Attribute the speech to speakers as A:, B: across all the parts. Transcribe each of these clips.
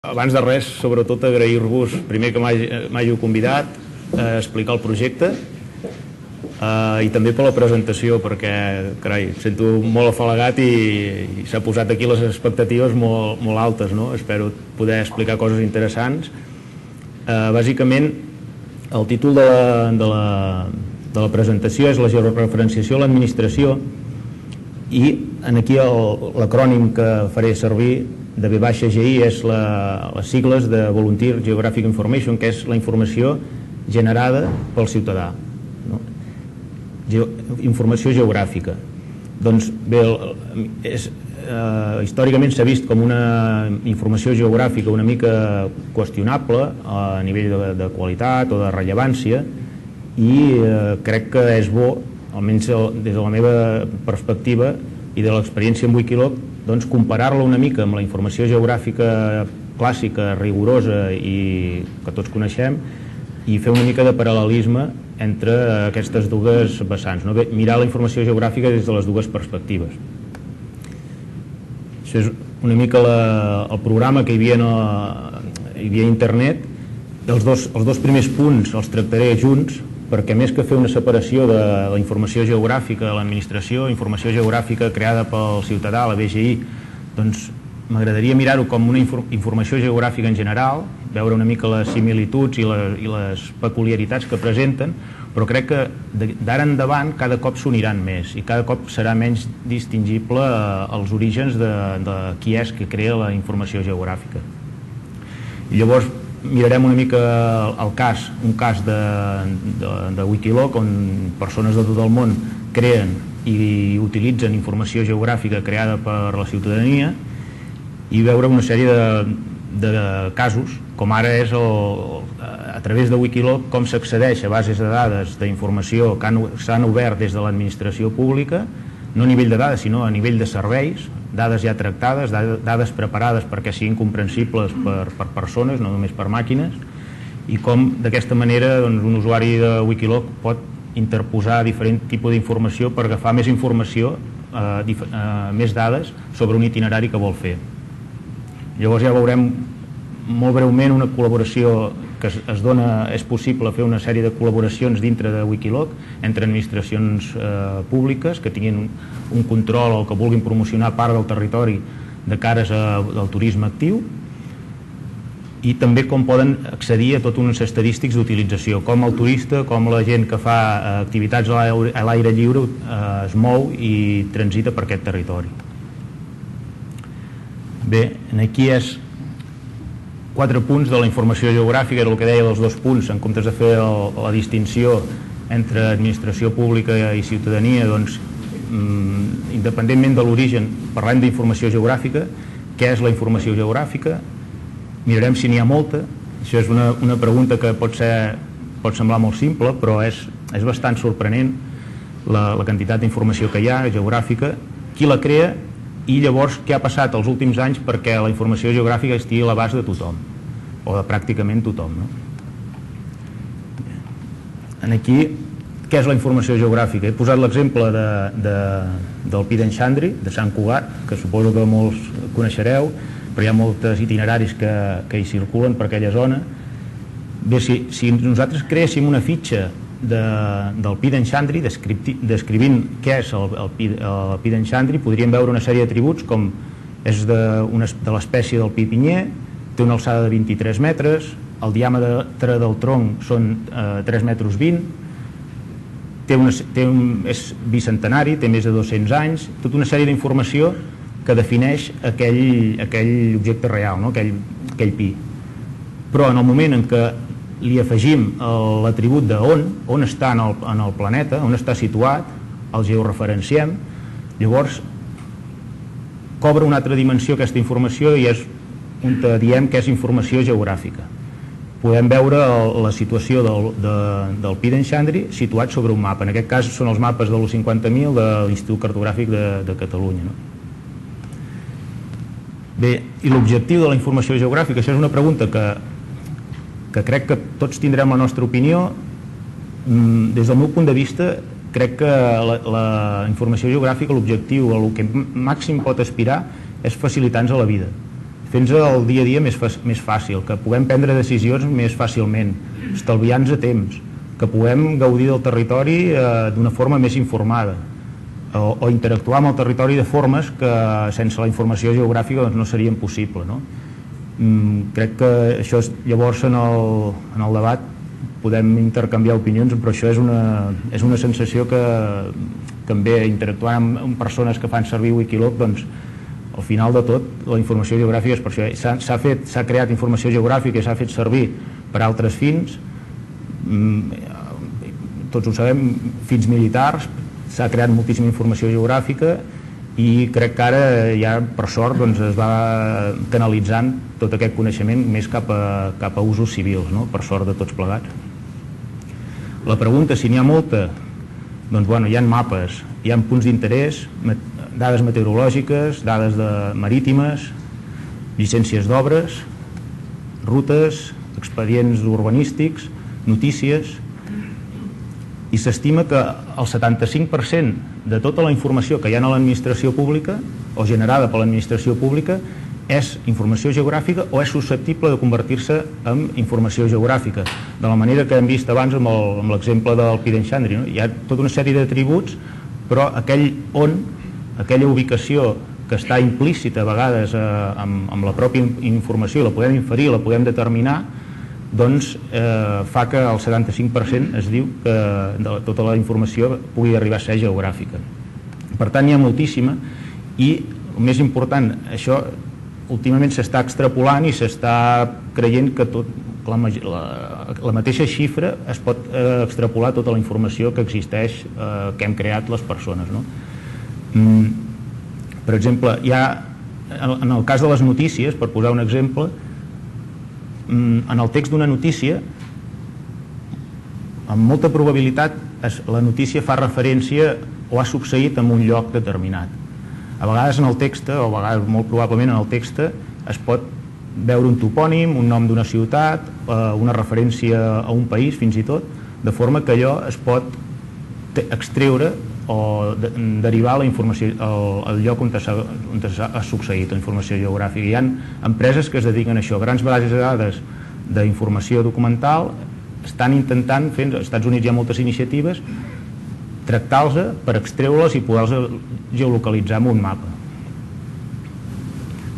A: abans de res, sobretot agrair-vos primer que m'hàgiu convidat a explicar el projecte i també per la presentació, perquè, carai, em sento molt afalagat i s'ha posat aquí les expectatives molt altes, no? Espero poder explicar coses interessants. Bàsicament, el títol de la presentació és la georreferenciació a l'administració, i aquí l'acrònim que faré servir de V-GI és les sigles de Volunteer Geographic Information, que és la informació generada pel ciutadà, no? Informació geogràfica. Doncs bé, històricament s'ha vist com una informació geogràfica una mica qüestionable a nivell de qualitat o de rellevància, i crec que és bo, almenys des de la meva perspectiva i de l'experiència amb Wikiloc, doncs comparar-la una mica amb la informació geogràfica clàssica, rigorosa i que tots coneixem, i fer una mica de paral·lelisme entre aquestes dues vessants, no? Mirar la informació geogràfica des de les dues perspectives. Això és una mica el programa que hi havia a internet. Els dos primers punts els tractaré junts, perquè més que fer una separació de la informació geogràfica de l'administració, informació geogràfica creada pel ciutadà, la VGI, doncs m'agradaria mirar-ho com una informació geogràfica en general, veure una mica les similituds i les peculiaritats que presenten, però crec que d'ara endavant cada cop s'uniran més i cada cop serà menys distingible els orígens de qui és que crea la informació geogràfica. I llavors mirarem una mica un cas de Wikiloc, on persones de tot el món creen i utilitzen informació geogràfica creada per la ciutadania, i veure una sèrie de casos, com ara és a través de Wikiloc com s'accedeix a bases de dades d'informació que s'han obert des de l'administració pública, no a nivell de dades sinó a nivell de serveis, dades ja tractades, dades preparades perquè siguin comprensibles per persones, no només per màquines, i com d'aquesta manera un usuari de Wikiloc pot interposar diferent tipus d'informació per agafar més informació, més dades sobre un itinerari que vol fer. Llavors ja veurem molt breument una col·laboració que es dona, és possible fer una sèrie de col·laboracions dintre de Wikiloc entre administracions públiques que tinguin un control o que vulguin promocionar part del territori de cares al turisme actiu, i també com poden accedir a tots uns estadístics d'utilització, com el turista, com la gent que fa activitats a l'aire lliure es mou i transita per aquest territori. Bé, aquí és 4 punts de la informació geogràfica, era el que deia dels 2 punts, en comptes de fer la distinció entre administració pública i ciutadania, doncs, independentment de l'origen, parlem d'informació geogràfica. Què és la informació geogràfica? Mirarem si n'hi ha molta. Això és una pregunta que pot semblar molt simple, però és bastant sorprenent la quantitat d'informació que hi ha geogràfica, qui la crea, i llavors què ha passat els últims anys perquè la informació geogràfica estigui a l'abast de tothom, o de pràcticament tothom, no? Aquí, què és la informació geogràfica? He posat l'exemple del Pi d'en Xandri, de Sant Cugat, que suposo que molts coneixereu, però hi ha molts itineraris que hi circulen per aquella zona. Bé, si nosaltres creéssim una fitxa del Pi d'en Xandri, descrivint què és el Pi d'en Xandri, podríem veure una sèrie d'atributs com és de l'espècie del pi pinyer, té una alçada de 23 metres, el diàmetre del tronc són 3,20 metres, és bicentenari, té més de 200 anys, tota una sèrie d'informació que defineix aquell objecte real, no? aquell pi. Però en el moment en què li afegim l'atribut d'on està en el planeta, on està situat, el georreferenciem, llavors cobra una altra dimensió aquesta informació i és on diem que és informació geogràfica. Podem veure la situació del Pi d'en Xandri situat sobre un mapa. En aquest cas són els mapes de l'U50.000 de l'Institut Cartogràfic de Catalunya. Bé, i l'objectiu de la informació geogràfica, això és una pregunta que crec que tots tindrem la nostra opinió. Des del meu punt de vista, crec que la informació geogràfica, l'objectiu, el que màxim pot aspirar és facilitar-nos la vida, fent-nos el dia a dia més fàcil, que puguem prendre decisions més fàcilment, estalviant-nos a temps, que puguem gaudir del territori d'una forma més informada, o interactuar amb el territori de formes que sense la informació geogràfica doncs, no serien possible, no? Crec que això llavors en el debat podem intercanviar opinions, però això és una sensació que també interactuant amb persones que fan servir Wikiloc, doncs al final de tot la informació geogràfica és per això. S'ha creat informació geogràfica i s'ha fet servir per altres fins, tots ho sabem, fins militars, s'ha creat moltíssima informació geogràfica i crec que ara ja per sort doncs, es va canalitzant tot aquest coneixement més cap a usos civils, no? Per sort de tots plegats. La pregunta, si n'hi ha molta, doncs bueno, hi ha mapes, hi ha punts d'interès, dades meteorològiques, dades marítimes, llicències d'obres, rutes, expedients urbanístics, notícies, i s'estima que el 75% de tota la informació que hi ha a l'administració pública o generada per l'administració pública és informació geogràfica o és susceptible de convertir-se en informació geogràfica, de la manera que hem vist abans amb l'exemple del Piren Xandri, no? Hi ha tota una sèrie d'atributs, però aquella ubicació que està implícita a vegades amb la pròpia informació, la podem inferir, la podem determinar, doncs fa que el 75% es diu que tota la informació pugui arribar a ser geogràfica. Per tant, n'hi ha moltíssima i el més important, això últimament s'està extrapolant i s'està creient que la mateixa xifra es pot extrapolar tota la informació que existeix, que hem creat les persones, no? Per exemple, hi ha, en el cas de les notícies, per posar un exemple, en el text d'una notícia, amb molta probabilitat la notícia fa referència o ha succeït en un lloc determinat. A vegades en el text, o a vegades molt probablement en el text, es pot veure un topònim, un nom d'una ciutat, una referència a un país fins i tot, de forma que allò es pot extreure o derivar la informació al lloc on ha succeït la informació geogràfica. Hi ha empreses que es dediquen a això, grans bases de dades d'informació documental, estan intentant fer, als Estats Units hi ha moltes iniciatives, tractar-los per extreure-les i poder-les geolocalitzar en un mapa.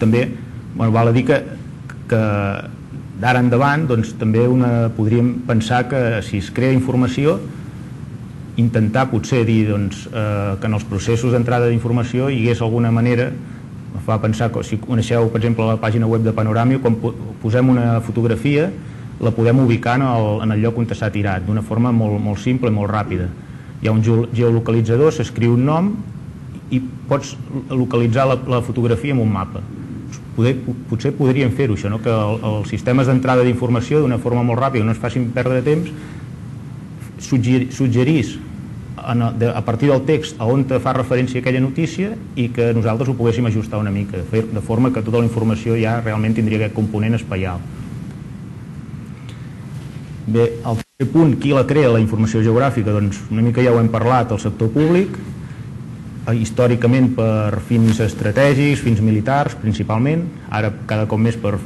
A: També val a dir que d'ara endavant doncs, també podríem pensar que si es crea informació, intentar potser dir que en els processos d'entrada d'informació hi hagués alguna manera, em fa pensar que si coneixeu per exemple la pàgina web de Panorama, quan posem una fotografia la podem ubicar en el lloc on s'ha tirat d'una forma molt simple i molt ràpida. Hi ha un geolocalitzador, s'escriu un nom i pots localitzar la fotografia en un mapa. Potser podríem fer-ho això, que els sistemes d'entrada d'informació d'una forma molt ràpida no ens facin perdre temps, suggerís a partir del text a on fa referència aquella notícia i que nosaltres ho poguéssim ajustar una mica, de forma que tota la informació ja realment tindria aquest component espaial. Bé, el tercer punt, qui la crea, la informació geogràfica? Doncs una mica ja ho hem parlat, el sector públic, històricament per fins estratègics, fins militars principalment, ara cada cop més per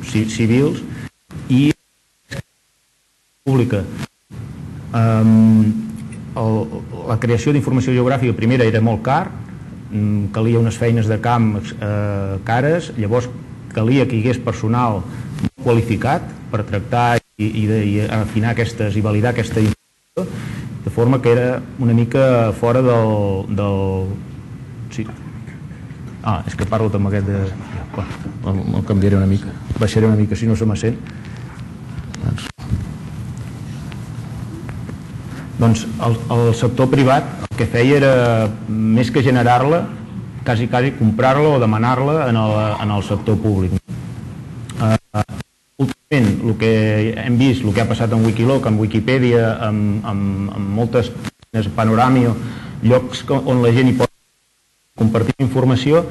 A: civils, i pública. La creació d'informació geogràfica primera era molt car, calia unes feines de camp cares, llavors calia que hi hagués personal qualificat per tractar i afinar aquestes i validar aquesta informació, de forma que era una mica fora del... Sí. És que parlo amb aquest de... El canviaré una mica, baixaré una mica si no se m'assent. Doncs el sector privat el que feia era, més que generar-la, quasi comprar-la o demanar-la en el sector públic. Últimament, el que hem vist, el que ha passat amb Wikiloc, amb Wikipedia, amb moltes Panorama, llocs on la gent hi pot compartir informació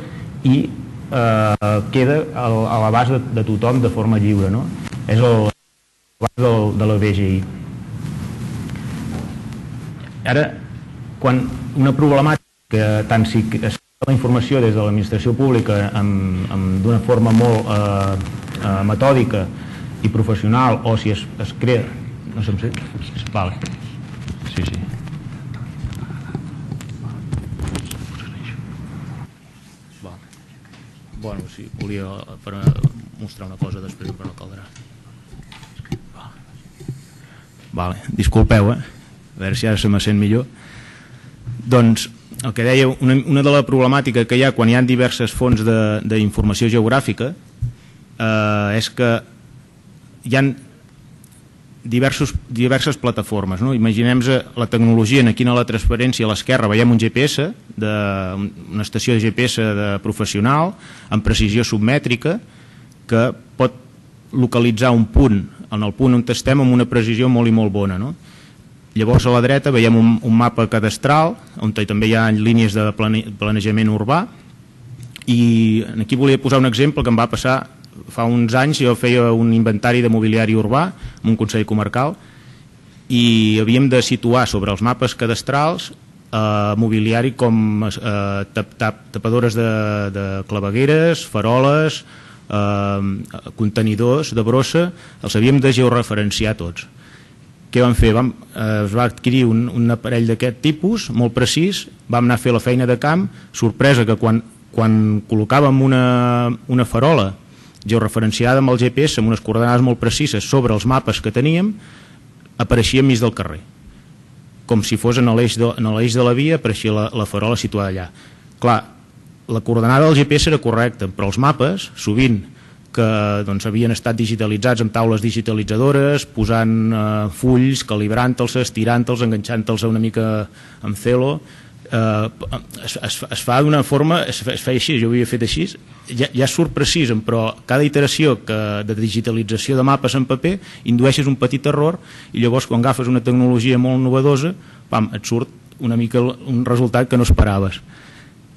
A: i queda a l'abast de tothom de forma lliure, no? És l'abast de la BGI. Ara, quan una problemàtica tant si es la informació des de l'administració pública d'una forma molt metòdica i professional, o si es crea... No sé, vale. Sí. Vale. Bueno, sí, volia mostrar una cosa després, però no caldrà. Vale. Disculpeu, a veure si ara se me sent millor. Doncs el que deia, una de la problemàtica que hi ha quan hi ha diverses fonts d'informació geogràfica és que hi ha diverses plataformes, no? Imaginem-nos la tecnologia, aquí a la transparència a l'esquerra veiem un GPS, una estació de GPS professional amb precisió submètrica que pot localitzar un punt, en el punt on estem, amb una precisió molt i molt bona, no? Llavors a la dreta veiem un mapa cadastral on també hi ha línies de planejament urbà, i aquí volia posar un exemple que em va passar fa uns anys. Jo feia un inventari de mobiliari urbà en un consell comarcal i havíem de situar sobre els mapes cadastrals mobiliari com tapadores de clavegueres, faroles, contenidors de brossa, els havíem de georreferenciar tots. Què vam fer? Es va adquirir un aparell d'aquest tipus, molt precís, vam anar a fer la feina de camp, sorpresa que quan col·locàvem una farola georreferenciada amb el GPS amb unes coordenades molt precises sobre els mapes que teníem, apareixia enmig del carrer, com si fos en l'eix de la via, apareixia la farola situada allà. Clar, la coordenada del GPS era correcta, però els mapes, sovint, que havien estat digitalitzats amb taules digitalitzadores, posant fulls, calibrant-los, estirant-los, enganxant-los una mica amb celo, es fa d'una forma, es feia així, jo ho havia fet així, ja surt precís, però cada iteració de digitalització de mapes en paper indueixes un petit error, i llavors quan agafes una tecnologia molt novedosa, et surt una mica un resultat que no esperaves.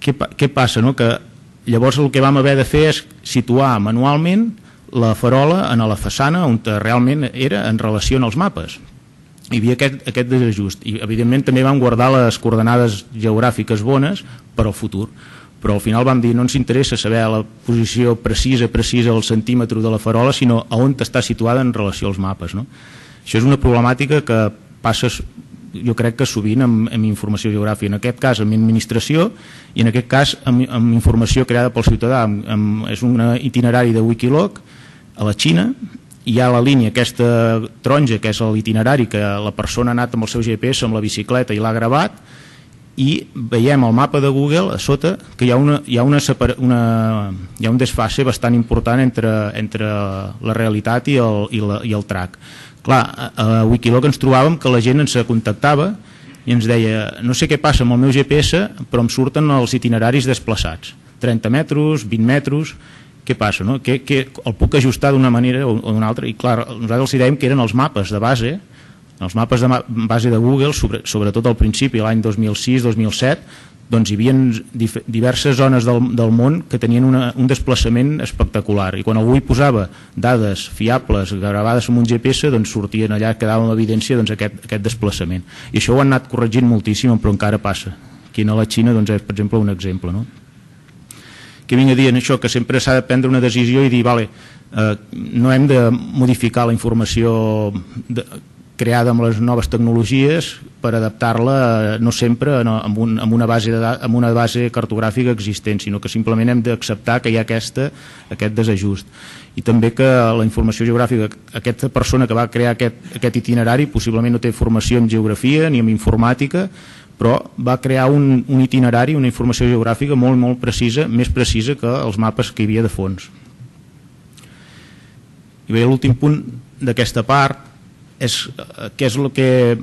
A: Què passa? Que llavors el que vam haver de fer és situar manualment la farola en la façana on realment era en relació als mapes. Hi havia aquest desajust, i evidentment també vam guardar les coordenades geogràfiques bones per al futur, però al final vam dir no ens interessa saber la posició precisa al centímetre de la farola, sinó a on està situada en relació als mapes. Això és una problemàtica que passa, jo crec que sovint amb informació geogràfica, en aquest cas amb administració, i en aquest cas amb informació creada pel ciutadà. És un itinerari de Wikiloc a la Xina, hi ha la línia aquesta taronja, que és l'itinerari que la persona ha anat amb el seu GPS amb la bicicleta i l'ha gravat, i veiem al mapa de Google a sota que hi ha un desfase bastant important entre la realitat i el track. Clar, a Wikiloc ens trobàvem que la gent ens contactava i ens deia no sé què passa amb el meu GPS, però em surten els itineraris desplaçats, 30 metres, 20 metres, què passa? El puc ajustar d'una manera o d'una altra? I clar, nosaltres els dèiem que eren els mapes de base, els mapes de base de Google, sobretot al principi, l'any 2006-2007, doncs hi havia diverses zones del món que tenien un desplaçament espectacular, i quan algú hi posava dades fiables gravades amb un GPS, doncs sortien allà, quedava en evidència aquest desplaçament, i això ho han anat corregint moltíssim, però encara passa. Aquí a la Xina és, per exemple, un exemple, no? Que vinc a dir això, que sempre s'ha de prendre una decisió i dir, no hem de modificar la informació creada amb les noves tecnologies per adaptar-la no sempre amb una base cartogràfica existent, sinó que simplement hem d'acceptar que hi ha aquest desajust. I també que la informació geogràfica, aquesta persona que va crear aquest itinerari possiblement no té formació en geografia ni en informàtica, però va crear un itinerari, una informació geogràfica molt, molt precisa, més precisa que els mapes que hi havia de fons. I bé, l'últim punt d'aquesta part és què és el que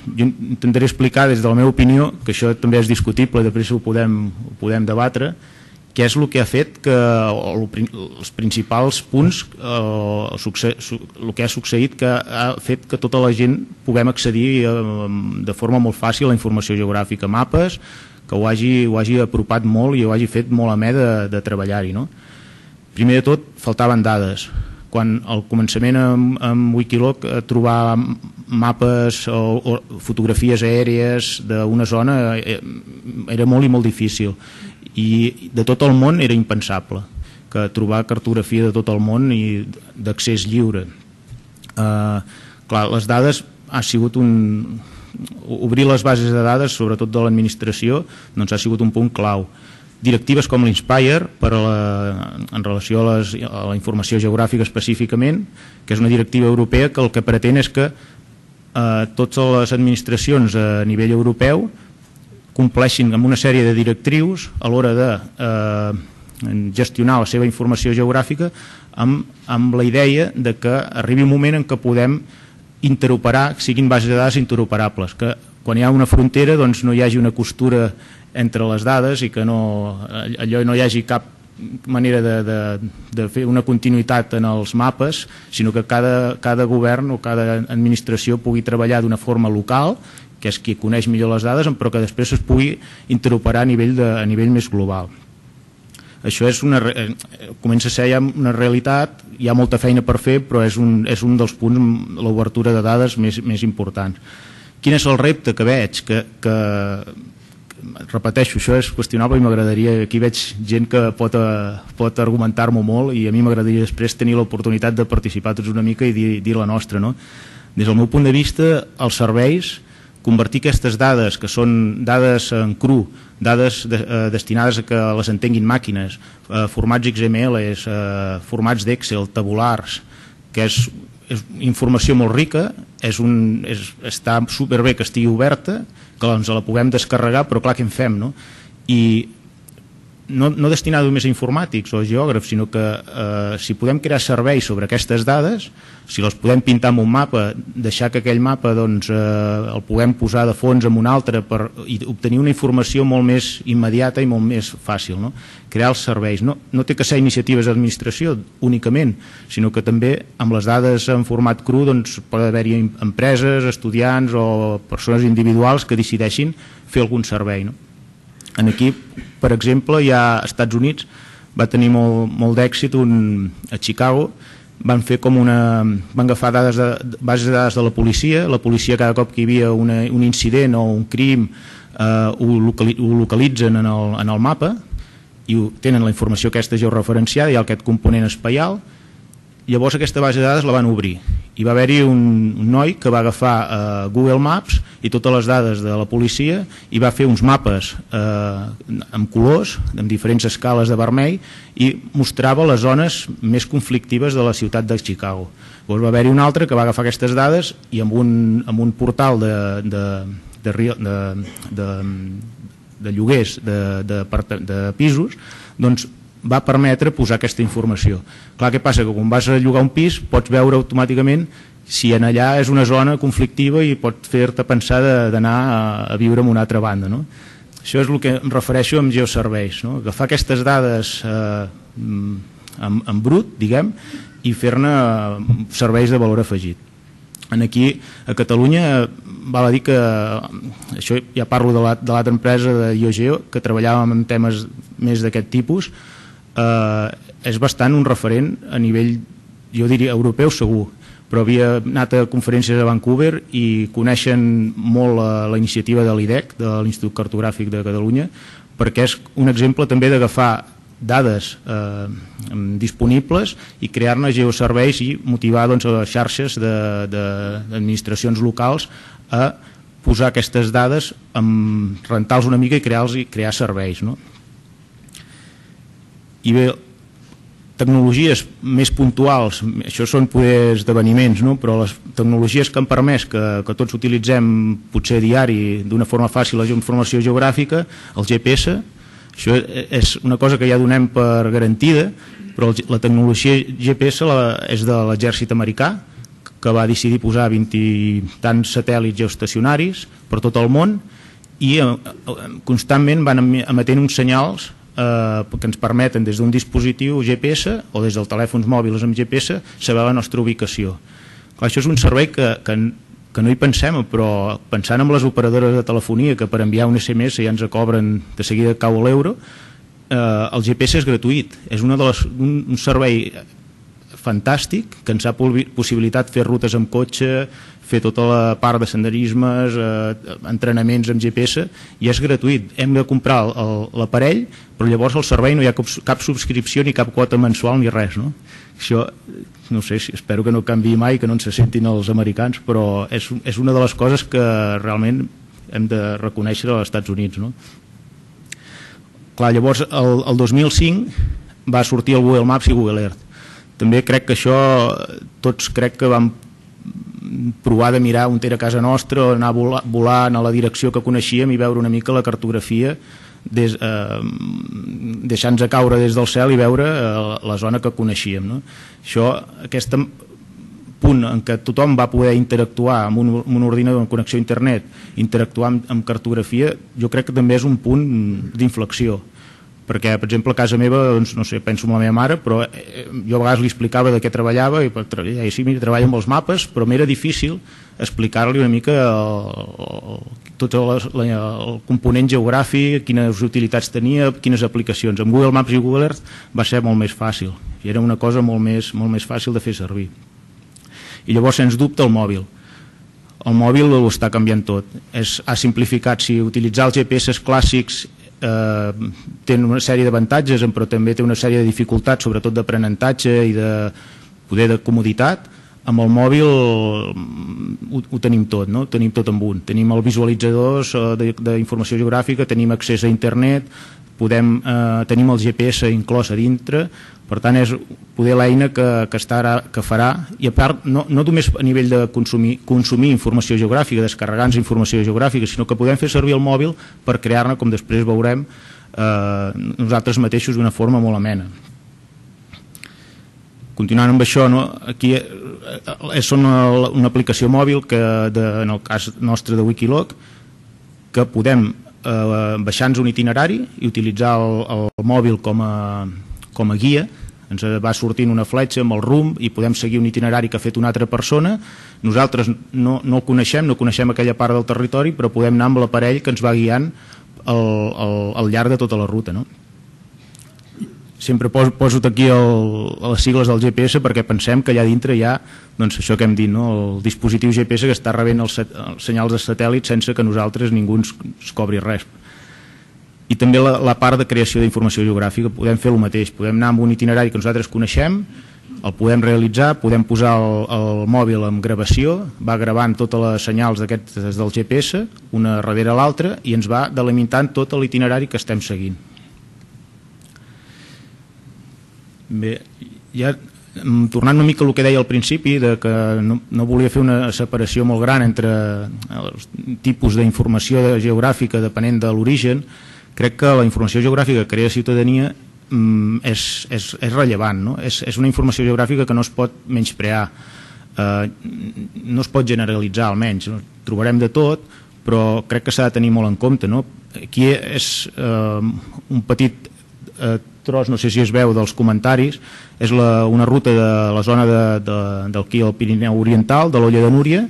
A: jo intentaré explicar des de la meva opinió, que això també és discutible, després ho podem debatre, què és el que ha fet que els principals punts, el que ha succeït, que ha fet que tota la gent puguem accedir de forma molt fàcil a la informació geogràfica, mapes, que ho hagi apropat molt i ho hagi fet molt amè de treballar-hi. Primer de tot, faltaven dades. Quan al començament amb Wikiloc trobar mapes o fotografies aèries d'una zona era molt i molt difícil, i de tot el món era impensable que trobar cartografia de tot el món i d'accés lliure. Clar, les dades ha sigut obrir les bases de dades, sobretot de l'administració, doncs ha sigut un punt clau. Directives com l'Inspire en relació a la informació geogràfica específicament, que és una directiva europea que el que pretén és que totes les administracions a nivell europeu compleixin amb una sèrie de directrius a l'hora de gestionar la seva informació geogràfica amb la idea de que arribi un moment en què podem interoperar, que siguin bases de dades interoperables, que quan hi ha una frontera doncs no hi hagi una costura entre les dades i que no hi hagi cap manera de fer una continuïtat en els mapes, sinó que cada govern o cada administració pugui treballar d'una forma local, que és qui coneix millor les dades, però que després es pugui interoperar a nivell més global. Això comença a ser ja una realitat, hi ha molta feina per fer, però és un dels punts, l'obertura de dades més importants. Quin és el repte que veig? Repeteixo, això és qüestionable i m'agradaria, aquí veig gent que pot argumentar-m'ho molt i a mi m'agradaria després tenir l'oportunitat de participar tots una mica i dir la nostra. Des del meu punt de vista, els serveis, convertir aquestes dades, que són dades en cru, dades destinades a que les entenguin màquines, formats XML, formats d'Excel, tabulars, que és informació molt rica, està superbé que estigui oberta, que la puguem descarregar, però clar, què en fem? I no destinada només a informàtics o a geògrafs, sinó que si podem crear serveis sobre aquestes dades, si les podem pintar en un mapa, deixar que aquell mapa el puguem posar de fons en un altre i obtenir una informació molt més immediata i molt més fàcil. Crear els serveis. No té que ser iniciatives d'administració únicament, sinó que també amb les dades en format cru pot haver-hi empreses, estudiants o persones individuals que decideixin fer algun servei. Aquí, per exemple, ja als Estats Units va tenir molt d'èxit a Chicago, van agafar bases de dades de la policia cada cop que hi havia un incident o un crim ho localitzen en el mapa i tenen la informació aquesta georreferenciada, hi ha aquest component espaial. Llavors aquesta base de dades la van obrir i va haver-hi un noi que va agafar Google Maps i totes les dades de la policia i va fer uns mapes amb colors, amb diferents escales de vermell, i mostrava les zones més conflictives de la ciutat de Chicago. Llavors va haver-hi un altre que va agafar aquestes dades i amb un portal de lloguers de pisos va permetre posar aquesta informació. Clar, què passa? Que quan vas a llogar un pis pots veure automàticament si en allà és una zona conflictiva i pot fer-te pensar d'anar a viure en una altra banda. Això és el que em refereixo amb geoserveis, agafar aquestes dades en brut, diguem, i fer-ne serveis de valor afegit. Aquí a Catalunya val a dir que, això ja parlo de l'altra empresa de IOGEO, que treballàvem en temes més d'aquest tipus, és bastant un referent a nivell, jo diria, europeu segur, però havia anat a conferències a Vancouver i coneixen molt la iniciativa de l'IDEC, de l'Institut Cartogràfic de Catalunya, perquè és un exemple també d'agafar dades disponibles i crear-ne geoserveis i motivar les xarxes d'administracions locals a posar aquestes dades, rentar-los una mica i crear serveis. I bé, tecnologies més puntuals, això són poder esdeveniments, però les tecnologies que han permès que tots utilitzem potser diari d'una forma fàcil la informació geogràfica, el GPS, això és una cosa que ja donem per garantida, però la tecnologia GPS és de l'exèrcit americà, que va decidir posar 20 i tants satèl·lits geoestacionaris per tot el món i constantment van emetent uns senyals que ens permeten des d'un dispositiu GPS o des dels telèfons mòbils amb GPS saber la nostra ubicació. Clar, això és un servei que no hi pensem, però pensant en les operadores de telefonia que per enviar un SMS ja ens cobren de seguida cau l'euro, el GPS és gratuït, és un servei fantàstic, que ens ha possibilitat fer rutes amb cotxe, fer tota la part de senderismes, entrenaments amb GPS, i és gratuït. Hem de comprar l'aparell, però llavors al servei no hi ha cap subscripció ni cap quota mensual ni res, no? Això, no sé, espero que no canviï mai, que no ens se sentin els americans, però és una de les coses que realment hem de reconèixer als Estats Units, no? Clar, llavors el 2005 va sortir el Google Maps i Google Earth. També crec que això, tots crec que vam provar de mirar on era casa nostra, anar volant a la direcció que coneixíem i veure una mica la cartografia, deixant-nos caure des del cel i veure la zona que coneixíem, no? Això, aquest punt en què tothom va poder interactuar amb un ordinador en connexió a internet, interactuar amb cartografia, jo crec que també és un punt d'inflexió, perquè, per exemple, a casa meva, doncs, no sé, penso en la meva mare, però jo a vegades li explicava de què treballava i sí, mira, treballa amb els mapes, però m'era difícil explicar-li una mica tot el component geogràfic, quines utilitats tenia, quines aplicacions. Amb Google Maps i Google Earth va ser molt més fàcil, i era una cosa molt més fàcil de fer servir. I llavors, sens dubte, el mòbil. El mòbil ho està canviant tot. Ha simplificat. Si utilitzar els GPS clàssics té una sèrie d'avantatges, però també té una sèrie de dificultats, sobretot d'aprenentatge i de poder de comoditat. Amb el mòbil ho tenim tot, no? Tenim tot amb un. Tenim els visualitzadors d'informació geogràfica, tenim accés a internet, tenim el GPS inclòs a dintre. Per tant, és poder l'eina que farà, i a part no només a nivell de consumir informació geogràfica, descarregar-nos informació geogràfica, sinó que podem fer servir el mòbil per crear-ne, com després veurem, nosaltres mateixos d'una forma molt amena. Continuant amb això, aquí és una aplicació mòbil que, en el cas nostre de Wikiloc, que podem baixar-nos un itinerari i utilitzar el mòbil com a guia. Ens va sortint una fletxa amb el rumb i podem seguir un itinerari que ha fet una altra persona. Nosaltres no el coneixem, no coneixem aquella part del territori, però podem anar amb l'aparell que ens va guiant al llarg de tota la ruta, no? Sempre poso aquí les sigles del GPS perquè pensem que allà dintre hi ha, doncs, això que hem dit, no? El dispositiu GPS que està rebent els senyals de satèl·lit sense que nosaltres ningú ens cobri res. I també la part de creació d'informació geogràfica, podem fer el mateix, podem anar amb un itinerari que nosaltres coneixem, el podem realitzar, podem posar el mòbil en gravació, va gravant totes les senyals d'aquestes del GPS, una darrere l'altra, i ens va delimitant tot l'itinerari que estem seguint. Bé, ja tornant una mica al que deia al principi, que no volia fer una separació molt gran entre els tipus d'informació geogràfica depenent de l'origen, crec que la informació geogràfica que crea ciutadania és rellevant, no? És una informació geogràfica que no es pot menysprear, no es pot generalitzar, almenys. Trobarem de tot, però crec que s'ha de tenir molt en compte, no? Aquí és un petit tros, no sé si es veu dels comentaris, és una ruta de la zona d'aquí al Pirineu Oriental, de l'Olla de Núria,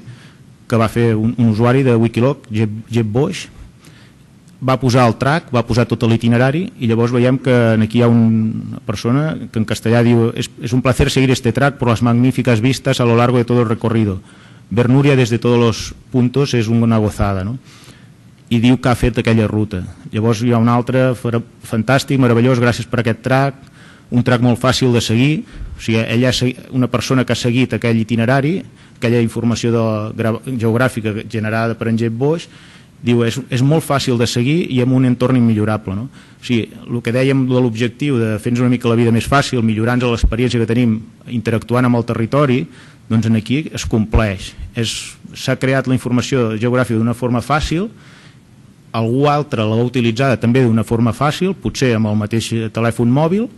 A: que va fer un usuari de Wikiloc, Jeb Boix, va posar el track, va posar tot l'itinerari, i llavors veiem que aquí hi ha una persona que en castellà diu: es un placer seguir este track por las magníficas vistas a lo largo de todo el recorrido. Ver Núria desde todos los puntos es una gozada, no? I diu que ha fet aquella ruta. Llavors hi ha un altre fantàstic, meravellós, gràcies per aquest track, un track molt fàcil de seguir. O sigui, ella és una persona que ha seguit aquell itinerari, aquella informació geogràfica generada per en Jeb Boix. Diu, és molt fàcil de seguir i amb un entorn immillorable, no? O sigui, el que dèiem de l'objectiu de fer-nos una mica la vida més fàcil, millorar-nos l'experiència que tenim interactuant amb el territori, doncs aquí es compleix. S'ha creat la informació geogràfica d'una forma fàcil, algú altre l'ha utilitzada també d'una forma fàcil, potser amb el mateix telèfon mòbil,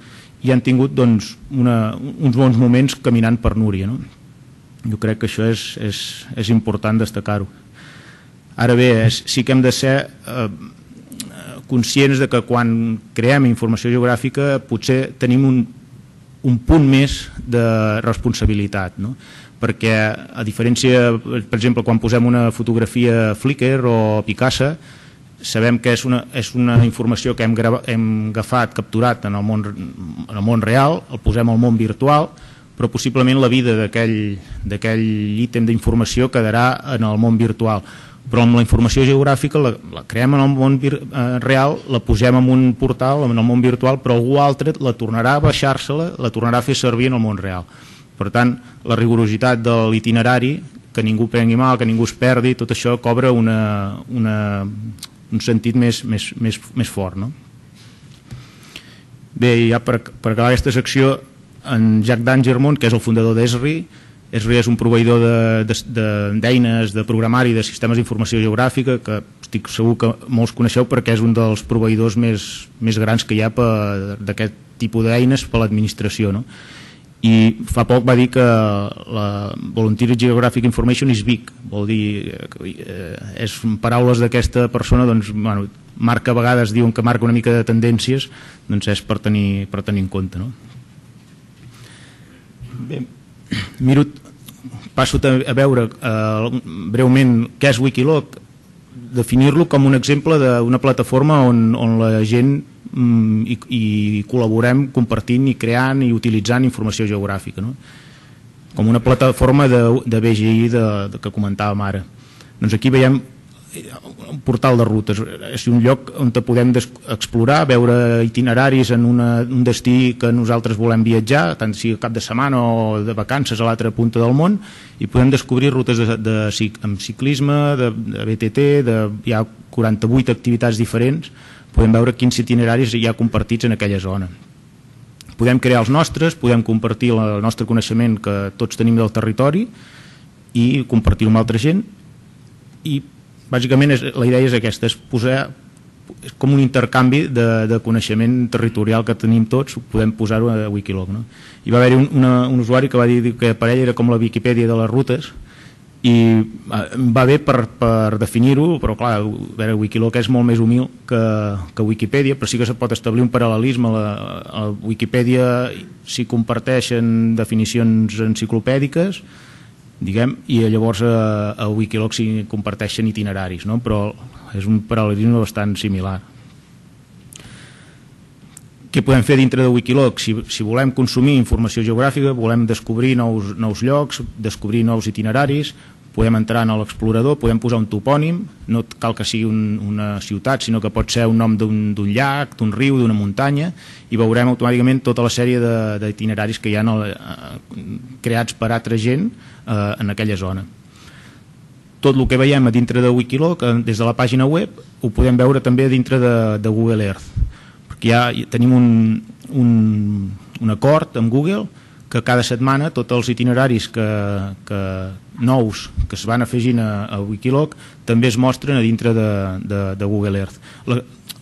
A: i han tingut doncs, uns bons moments caminant per Núria, no? Jo crec que això és important destacar-ho. Ara bé, sí que hem de ser conscients de que quan creem informació geogràfica potser tenim un punt més de responsabilitat, no? Perquè a diferència, per exemple, quan posem una fotografia a Flickr o a Picasa, sabem que és una informació que hem agafat, capturat en el món real, el posem al món virtual, però possiblement la vida d'aquell ítem d'informació quedarà en el món virtual. Però amb la informació geogràfica la creem en el món real, la posem en un portal, en el món virtual, però algú altre la tornarà a baixar-se-la, la tornarà a fer servir en el món real. Per tant, la rigorositat de l'itinerari, que ningú prengui mal, que ningú es perdi, tot això cobra un sentit més fort, no? Bé, ja per acabar aquesta secció, en Jack Dangermond, que és el fundador d'Esri és un proveïdor d'eines de programari de sistemes d'informació geogràfica, que estic segur que molts coneixeu perquè és un dels proveïdors més grans que hi ha d'aquest tipus d'eines per a l'administració, no? I fa poc va dir que la Volunteer Geographic Information is big, vol dir, és paraules d'aquesta persona, doncs, bueno, marca a vegades, diuen que marca una mica de tendències, doncs és per tenir en compte, no? Bé, passo a veure breument què és Wikiloc, definir-lo com un exemple d'una plataforma on la gent i col·laborem compartint i creant i utilitzant informació geogràfica, no? Com una plataforma de BGI que comentàvem ara. Doncs aquí veiem un portal de rutes, és un lloc on podem explorar, veure itineraris en un destí que nosaltres volem viatjar, tant sigui cap de setmana o de vacances a l'altra punta del món, i podem descobrir rutes amb ciclisme, de BTT, hi ha 48 activitats diferents, podem veure quins itineraris hi ha compartits en aquella zona. Podem crear els nostres, podem compartir el nostre coneixement que tots tenim del territori i compartir-ho amb altra gent, i bàsicament la idea és aquesta, és com un intercanvi de coneixement territorial que tenim tots, podem posar-ho a Wikiloc, no? Hi va haver-hi un usuari que va dir que per ell era com la Viquipèdia de les rutes, i va bé per definir-ho, però clar, Wikiloc és molt més humil que Wikipedia, però sí que se pot establir un paral·lelisme. A Wikipedia s'hi comparteixen definicions enciclopèdiques, diguem, i llavors a Wikiloc s'hi comparteixen itineraris, no? Però és un paral·lelisme bastant similar. Què podem fer dintre de Wikiloc? Si volem consumir informació geogràfica, volem descobrir nous llocs, descobrir nous itineraris, podem entrar en l'explorador, podem posar un topònim, no cal que sigui una ciutat, sinó que pot ser un nom d'un llac, d'un riu, d'una muntanya, i veurem automàticament tota la sèrie d'itineraris que hi ha creats per altra gent en aquella zona. Tot el que veiem a dintre de Wikiloc, des de la pàgina web, ho podem veure també dintre de Google Earth, perquè ja tenim un acord amb Google que cada setmana tots els itineraris nous que es van afegint a Wikiloc també es mostren a dintre de Google Earth.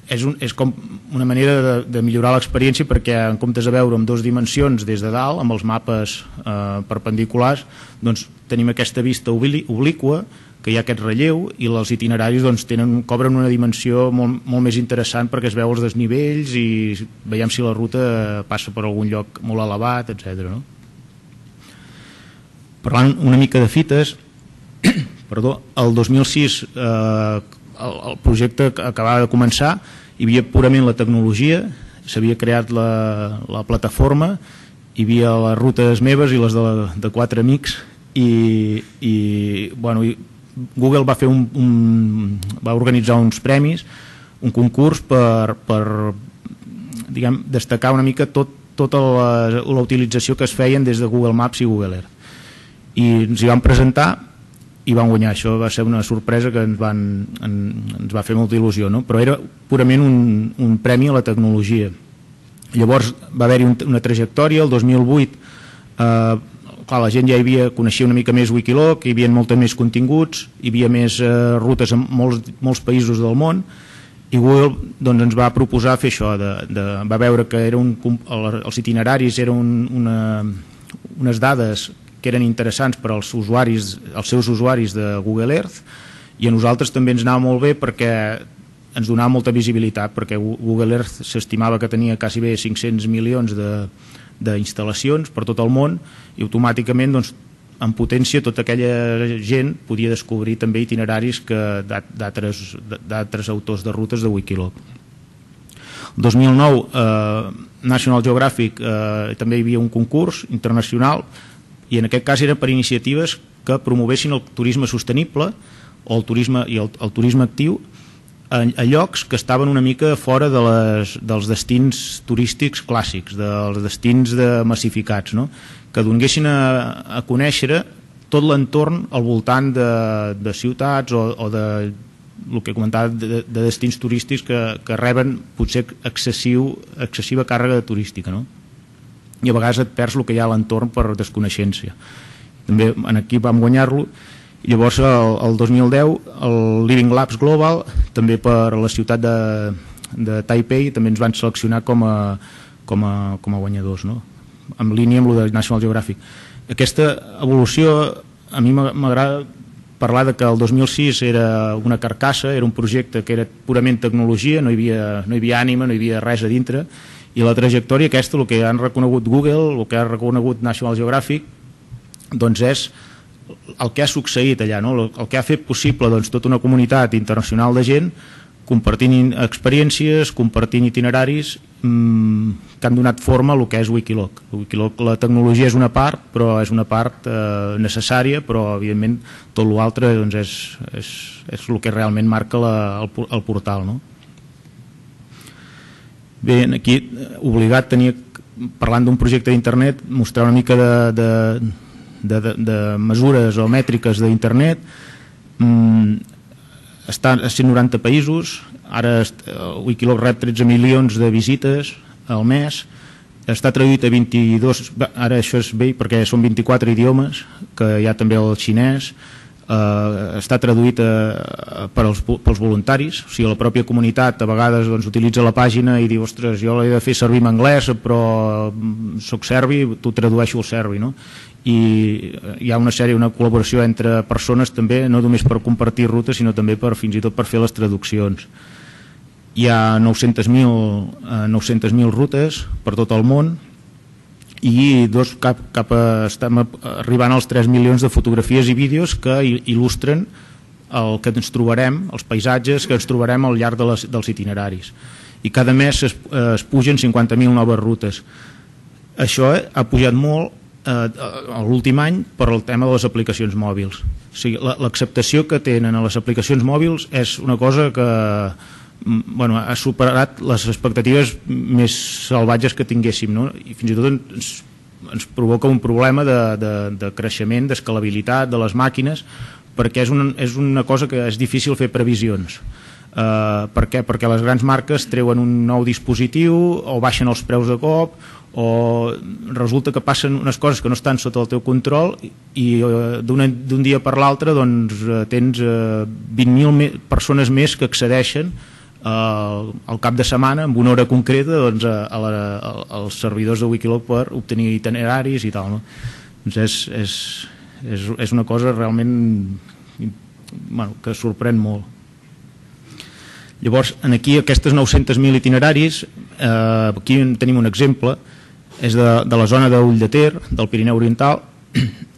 A: És com una manera de millorar l'experiència, perquè en comptes de veure en dues dimensions des de dalt, amb els mapes perpendiculars, doncs tenim aquesta vista obliqua, que hi ha aquest relleu, i els itineraris cobren una dimensió molt més interessant, perquè es veu els desnivells i veiem si la ruta passa per algun lloc molt elevat, etc. Parlant una mica de fites, el 2006 el projecte acabava de començar, hi havia purament la tecnologia, s'havia creat la plataforma, hi havia les rutes meves i les de quatre amics, i Google va organitzar uns premis, un concurs per destacar una mica tota la utilització que es feien des de Google Maps i Google Earth, i ens hi vam presentar i vam guanyar. Això va ser una sorpresa que ens va fer molta il·lusió, no? Però era purament un premi a la tecnologia. Llavors va haver-hi una trajectòria. El 2008 la gent ja coneixia una mica més Wikiloc, hi havia molts més continguts, hi havia més rutes en molts països del món, i Google ens va proposar fer això. Va veure que els itineraris eren unes dades que eren interessants per als seus usuaris de Google Earth, i a nosaltres també ens anava molt bé perquè ens donava molta visibilitat, perquè Google Earth s'estimava que tenia quasi bé 500 milions d'instal·lacions per tot el món, i automàticament en potència tota aquella gent podia descobrir també itineraris d'altres autors de rutes de Wikiloc. El 2009 National Geographic també hi havia un concurs internacional i en aquest cas eren per iniciatives que promovessin el turisme sostenible o el turisme actiu a llocs que estaven una mica fora dels destins turístics clàssics, dels destins massificats, no? Que donguessin a conèixer tot l'entorn al voltant de ciutats o de el que comentava de destins turístics que reben potser excessiva càrrega turística, no? I a vegades et perds el que hi ha a l'entorn per desconeixença. També aquí vam guanyar-lo. Llavors el 2010 el Living Labs Global també per la ciutat de Taipei també ens van seleccionar com a guanyadors, no? En línia amb el de National Geographic. Aquesta evolució a mi m'agrada parlar de que el 2006 era una carcassa, era un projecte que era purament tecnologia, no hi havia ànima, no hi havia res a dintre, i la trajectòria aquesta, el que han reconegut Google, el que ha reconegut National Geographic, doncs és el que ha succeït allà, no? El que ha fet possible tota una comunitat internacional de gent compartint experiències, compartint itineraris que han donat forma a el que és Wikiloc. La tecnologia és una part, però és una part necessària, però evidentment tot l'altre és el que realment marca el portal, no? Bé, aquí obligat tenia, parlant d'un projecte d'internet, mostrar una mica de mesures o mètriques d'internet. Està a 190 països, ara Wikiloc rep 13 milions de visites al mes, està traduït a 22, ara això és bé perquè són 24 idiomes, que hi ha també el xinès, està traduït pels voluntaris, o sigui, la pròpia comunitat a vegades utilitza la pàgina i diu, ostres, jo l'he de fer servir en anglès però soc serbi, t'ho tradueixo al serbi, no? I hi ha una col·laboració entre persones també, no només per compartir rutes sinó també fins i tot per fer les traduccions. Hi ha 900.000 rutes per tot el món i estem arribant als 3 milions de fotografies i vídeos que il·lustren el que ens trobarem, els paisatges que ens trobarem al llarg dels itineraris. I cada mes es pugen 50.000 noves rutes. Això ha pujat molt l'últim any per el tema de les aplicacions mòbils. O sigui, l'acceptació que tenen a les aplicacions mòbils és una cosa que ha superat les expectatives més salvatges que tinguéssim, no? I fins i tot ens provoca un problema de creixement, d'escalabilitat de les màquines, perquè és una cosa que és difícil fer previsions. Per què? Perquè les grans marques treuen un nou dispositiu o baixen els preus de cop o resulta que passen unes coses que no estan sota el teu control i d'un dia per l'altre tens 20.000 persones més que accedeixen al cap de setmana amb una hora concreta als servidors de Wikiloc per obtenir itineraris i tal, no? Doncs és una cosa realment que sorprèn molt. Llavors, aquí aquestes 900.000 itineraris, aquí tenim un exemple, és de la zona d'Ull de Ter, del Pirineu Oriental,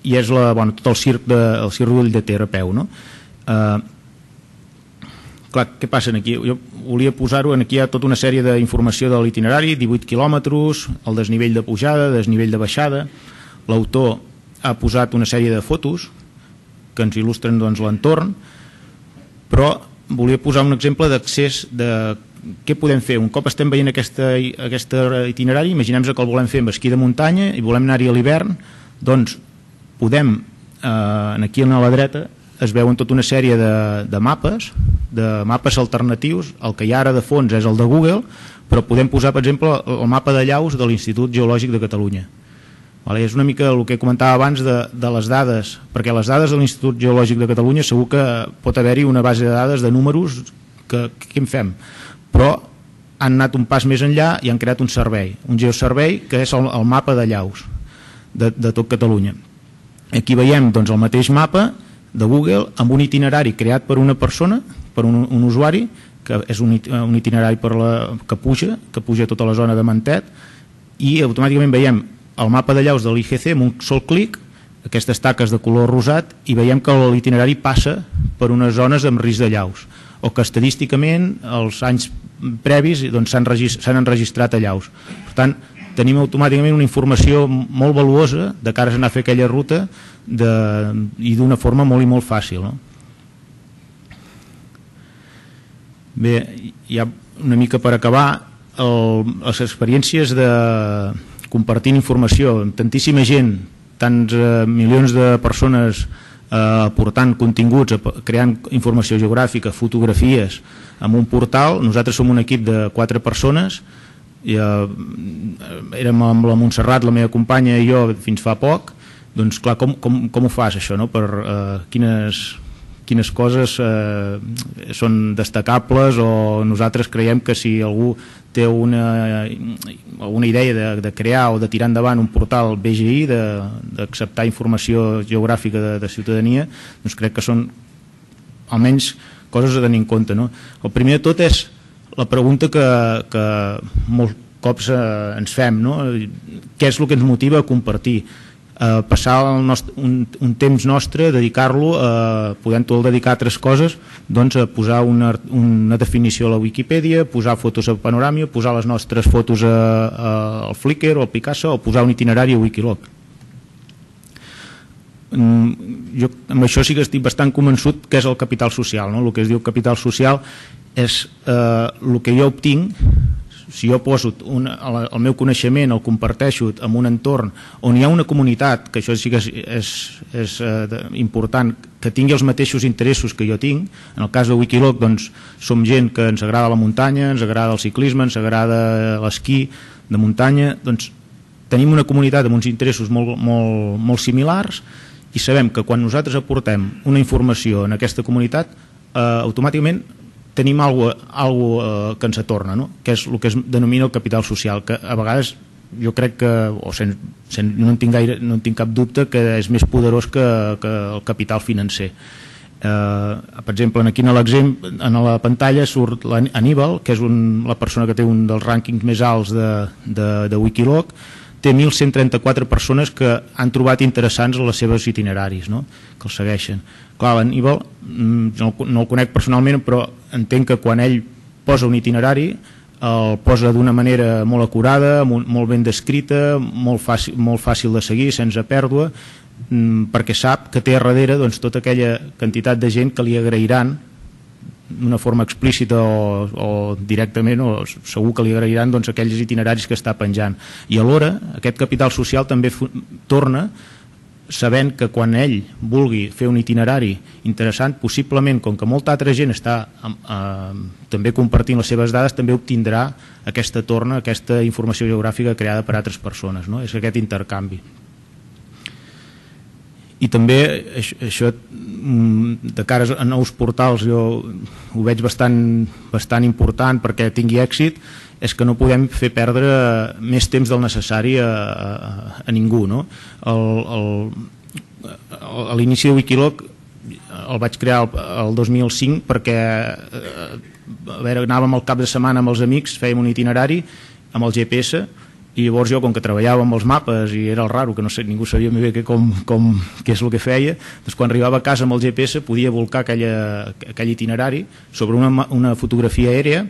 A: i és tot el circ d'Ull de Ter a peu, no? Clar, què passa aquí? Jo volia posar-ho, aquí hi ha tota una sèrie d'informació de l'itinerari, 18 quilòmetres, el desnivell de pujada, desnivell de baixada. L'autor ha posat una sèrie de fotos que ens il·lustren l'entorn, però volia posar un exemple d'accés de què podem fer. Un cop estem veient aquest itinerari, imaginem-nos que el volem fer amb esquí de muntanya i volem anar-hi a l'hivern, doncs podem, aquí a la dreta, es veuen tota una sèrie de mapes alternatius. El que hi ha ara de fons és el de Google, però podem posar, per exemple, el mapa de llaus de l'Institut Geològic de Catalunya. És una mica el que comentava abans de les dades, perquè les dades de l'Institut Geològic de Catalunya segur que pot haver-hi una base de dades de números que què en fem? Però han anat un pas més enllà i han creat un servei, un geoservei que és el mapa de llaus de tot Catalunya. Aquí veiem el mateix mapa de Google amb un itinerari creat per una persona, per un usuari, que és un itinerari que puja tota la zona de Mentet, i automàticament veiem el mapa de llaus de l'IGC amb un sol clic, aquestes taques de color rosat, i veiem que l'itinerari passa per unes zones amb risc de llaus, o que estadísticament els anys
B: previs s'han enregistrat allà. Per tant, tenim automàticament una informació molt valuosa de cara a anar a fer aquella ruta i d'una forma molt i molt fàcil, no? Bé, ja una mica per acabar, les experiències de compartint informació amb tantíssima gent, tants milions de persones aportant continguts, creant informació geogràfica, fotografies en un portal. Nosaltres som un equip de 4 persones, érem amb la Montserrat, la meva companya, i jo fins fa poc. Doncs clar, com ho fas això, no? Quines coses són destacables, o nosaltres creiem que si algú té alguna idea de crear o de tirar endavant un portal BGI, d'acceptar informació geogràfica de ciutadania, doncs crec que són almenys coses a tenir en compte, no? El primer de tot és la pregunta que molts cops ens fem, no? Què és el que ens motiva a compartir? Passar un temps nostre, dedicar-lo, podent-ho dedicar a altres coses, doncs a posar una definició a la Wikipedia, posar fotos a Panorama, posar les nostres fotos al Flickr o al Picasa, o posar un itinerari a Wikiloc. Jo amb això sí que estic bastant convençut que és el capital social, no? El que es diu capital social és el que jo obtinc si jo poso el meu coneixement, el comparteixo en un entorn on hi ha una comunitat, que això sí que és important, que tingui els mateixos interessos que jo tinc. En el cas de Wikiloc, doncs, som gent que ens agrada la muntanya, ens agrada el ciclisme, ens agrada l'esquí de muntanya, doncs tenim una comunitat amb uns interessos molt similars, i sabem que quan nosaltres aportem una informació en aquesta comunitat, automàticament tenim alguna que ens atorna, no? Que és el que es denomina el capital social, que a vegades jo crec que, no en tinc cap dubte, que és més poderós que el capital financer. Per exemple, aquí en la pantalla surt l'Aníbal, que és la persona que té un dels rànquings més alts de Wikiloc. Té 1.134 persones que han trobat interessants els seus itineraris, no? Que els segueixen. Clar, l'Aníbal no el conec personalment, però entenc que quan ell posa un itinerari el posa d'una manera molt acurada, molt ben descrita, molt fàcil de seguir, sense pèrdua, perquè sap que té a darrere tota aquella quantitat de gent que li agrairan d'una forma explícita o directament, o segur que li agrairan aquells itineraris que està penjant. I alhora aquest capital social també torna sabent que quan ell vulgui fer un itinerari interessant, possiblement, com que molta altra gent està també compartint les seves dades, també obtindrà aquesta torna, aquesta informació geogràfica creada per altres persones, no? És aquest intercanvi. I també això de cara a nous portals jo ho veig bastant important perquè tingui èxit, és que no podem fer perdre més temps del necessari a ningú, no? A l'inici de Wikiloc el vaig crear el 2005 perquè anàvem al cap de setmana amb els amics, fèiem un itinerari amb el GPS, i llavors jo, com que treballava amb els mapes i era el raro, que no sé, ningú sabia bé què és el que feia, doncs quan arribava a casa amb el GPS podia volcar aquell itinerari sobre una fotografia aèrea,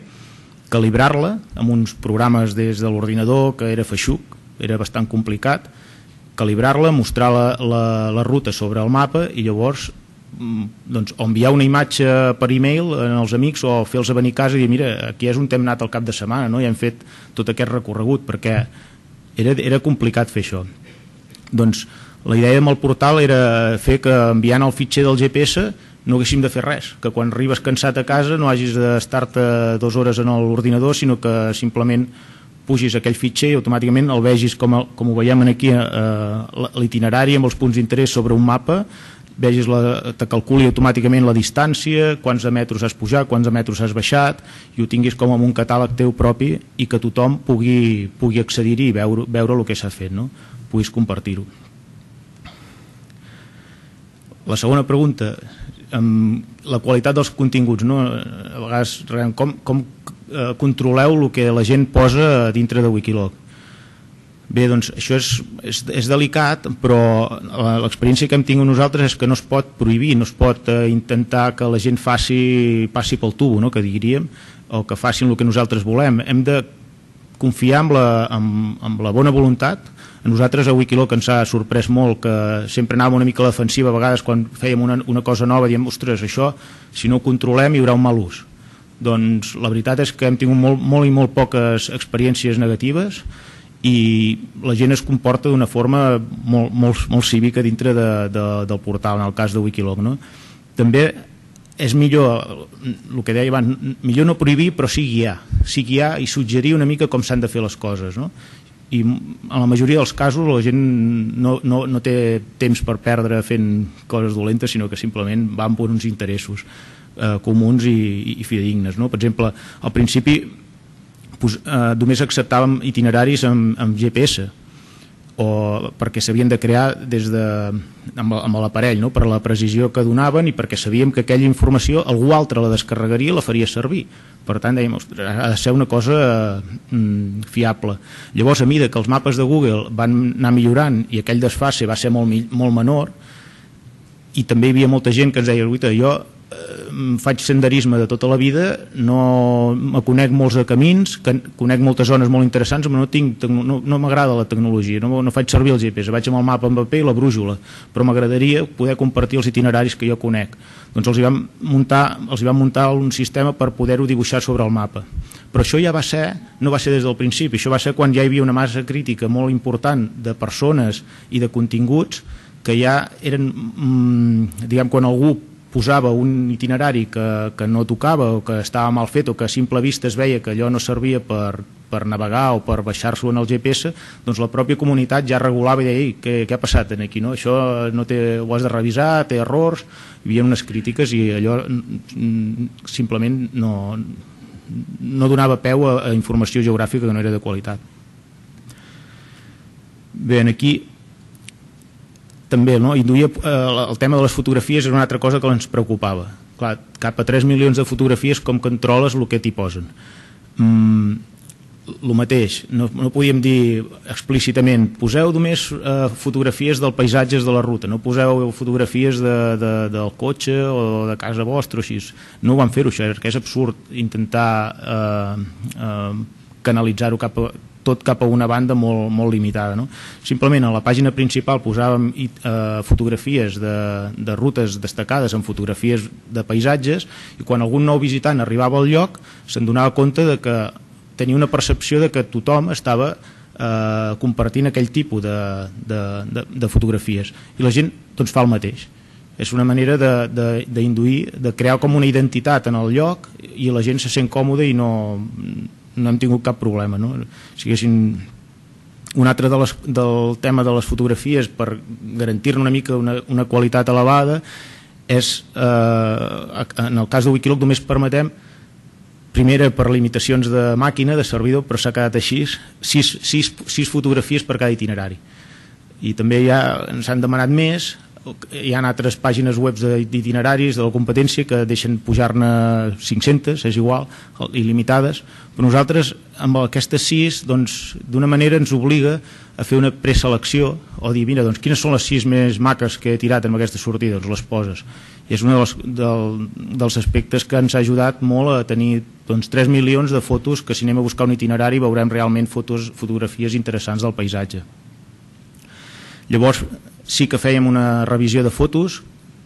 B: calibrar-la amb uns programes des de l'ordinador, que era feixuc, era bastant complicat, calibrar-la, mostrar la ruta sobre el mapa i llavors o enviar una imatge per e-mail als amics o fer-los venir a casa i dir, mira, aquí és on hem anat el cap de setmana, no? I hem fet tot aquest recorregut, perquè era complicat fer això. Doncs la idea amb el portal era fer que enviant el fitxer del GPS no haguéssim de fer res, que quan arribes cansat a casa no hagis d'estar-te 2 hores en l'ordinador, sinó que simplement pugis aquell fitxer i automàticament el vegis com ho veiem aquí, l'itinerari amb els punts d'interès sobre un mapa, vegis, te calculi automàticament la distància, quants de metres has pujat, quants de metres has baixat, i ho tinguis com un catàleg teu propi i que tothom pugui accedir-hi i veure el que s'ha fet, no? Puguis compartir-ho. La segona pregunta, la qualitat dels continguts, no? A vegades, com controleu el que la gent posa dintre de Wikiloc? Bé, doncs això és delicat, però l'experiència que hem tingut nosaltres és que no es pot prohibir, no es pot intentar que la gent passi pel tubo, no?, que diríem, o que facin el que nosaltres volem. Hem de confiar amb la bona voluntat. A nosaltres a Wikiloc ens ha sorprès molt que sempre anàvem una mica a la defensiva, a vegades quan fèiem una cosa nova diem, ostres, això si no ho controlem hi haurà un mal ús. Doncs la veritat és que hem tingut molt i molt poques experiències negatives i la gent es comporta d'una forma molt cívica dintre del portal, en el cas de Wikiloc, no? També és millor, el que deia abans, millor no prohibir però sí guiar i suggerir una mica com s'han de fer les coses, no? I en la majoria dels casos la gent no té temps per perdre fent coses dolentes, sinó que simplement van per uns interessos comuns i fidedignes, no? Per exemple, al principi només acceptàvem itineraris amb GPS, o perquè s'havien de crear amb l'aparell, no?, per la precisió que donaven i perquè sabíem que aquella informació algú altre la descarregaria i la faria servir. Per tant, dèiem, ha de ser una cosa fiable. Llavors, a mesura que els mapes de Google van anar millorant i aquell desfase va ser molt menor, i també hi havia molta gent que ens deia, jo faig senderisme de tota la vida, no me conec molts de camins, conec moltes zones molt interessants, però no m'agrada la tecnologia, no faig servir el GPS, vaig amb el mapa en paper i la brújula, però m'agradaria poder compartir els itineraris que jo conec. Doncs els hi vam muntar un sistema per poder-ho dibuixar sobre el mapa. Però això no va ser des del principi, això va ser quan ja hi havia una massa crítica molt important de persones i de continguts que ja eren, diguem, quan algú posava un itinerari que no tocava o que estava mal fet o que a simple vista es veia que allò no servia per navegar o per baixar-s'ho en el GPS, doncs la pròpia comunitat ja regulava i deia, què ha passat aquí, no? Això ho has de revisar, té errors. Hi havia unes crítiques i allò simplement no donava peu a informació geogràfica que no era de qualitat. Bé, aquí també, no? Induïa el tema de les fotografies és una altra cosa que ens preocupava. Clar, cap a 3 milions de fotografies, com controles el que t'hi posen? El mateix, no podíem dir explícitament poseu només fotografies dels paisatges de la ruta, no poseu fotografies del cotxe o de casa vostra o així. No ho van fer-ho, això, que és absurd intentar canalitzar-ho tot cap a una banda molt limitada, no? Simplement a la pàgina principal posàvem fotografies de rutes destacades amb fotografies de paisatges i quan algun nou visitant arribava al lloc se'n donava compte de que tenia una percepció de que tothom estava compartint aquell tipus de fotografies i la gent doncs fa el mateix. És una manera d'induir, de crear com una identitat en el lloc i la gent se sent còmoda i no hem tingut cap problema, no? Si haguessin un altre del tema de les fotografies per garantir-ne una mica una qualitat elevada és en el cas de Wikiloc només permetem, primera per limitacions de màquina, de servidor, però s'ha quedat així, 6 fotografies per cada itinerari i també ja ens han demanat més. Hi ha altres pàgines web d'itineraris de la competència que deixen pujar-ne 500, és igual, il·limitades, però nosaltres amb aquestes 6 doncs, d'una manera ens obliga a fer una preselecció o dir, mira, doncs, quines són les 6 més maques que he tirat en aquesta sortida, doncs les poses. I és un dels aspectes que ens ha ajudat molt a tenir doncs, 3 milions de fotos que si anem a buscar un itinerari veurem realment fotografies interessants del paisatge. Llavors sí que fèiem una revisió de fotos,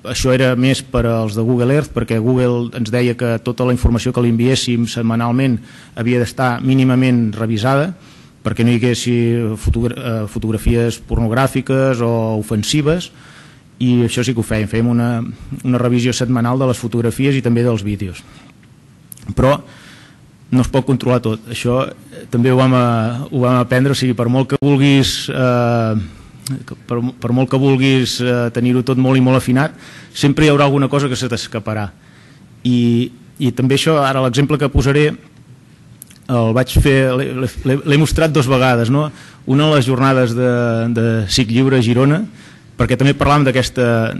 B: això era més per als de Google Earth perquè Google ens deia que tota la informació que li enviéssim setmanalment havia d'estar mínimament revisada perquè no hi haguessi fotografies pornogràfiques o ofensives i això sí que ho fèiem una revisió setmanal de les fotografies i també dels vídeos, però no es pot controlar tot, això també ho vam aprendre, o sigui, per molt que vulguis tenir-ho tot molt i molt afinat, sempre hi haurà alguna cosa que se t'escaparà i també això, ara l'exemple que posaré el vaig fer, l'he mostrat 2 vegades, no? Una a les jornades de SIC Lliure a Girona, perquè també parlàvem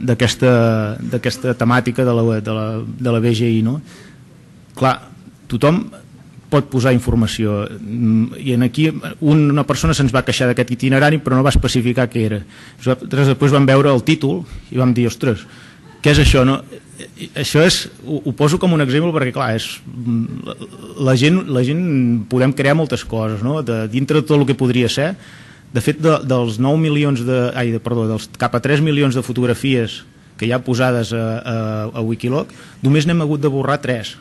B: d'aquesta temàtica de la BGI, no? Clar, tothom pot posar informació, i aquí una persona se'ns va queixar d'aquest itinerari però no va especificar què era. Nosaltres després vam veure el títol i vam dir, ostres, què és això? No? Això ho poso com un exemple perquè clar, la gent podem crear moltes coses, no? Dintre de tot el que podria ser. De fet, dels 9 milions dels cap a 3 milions de fotografies que hi ha posades a Wikiloc, només n'hem hagut de borrar 3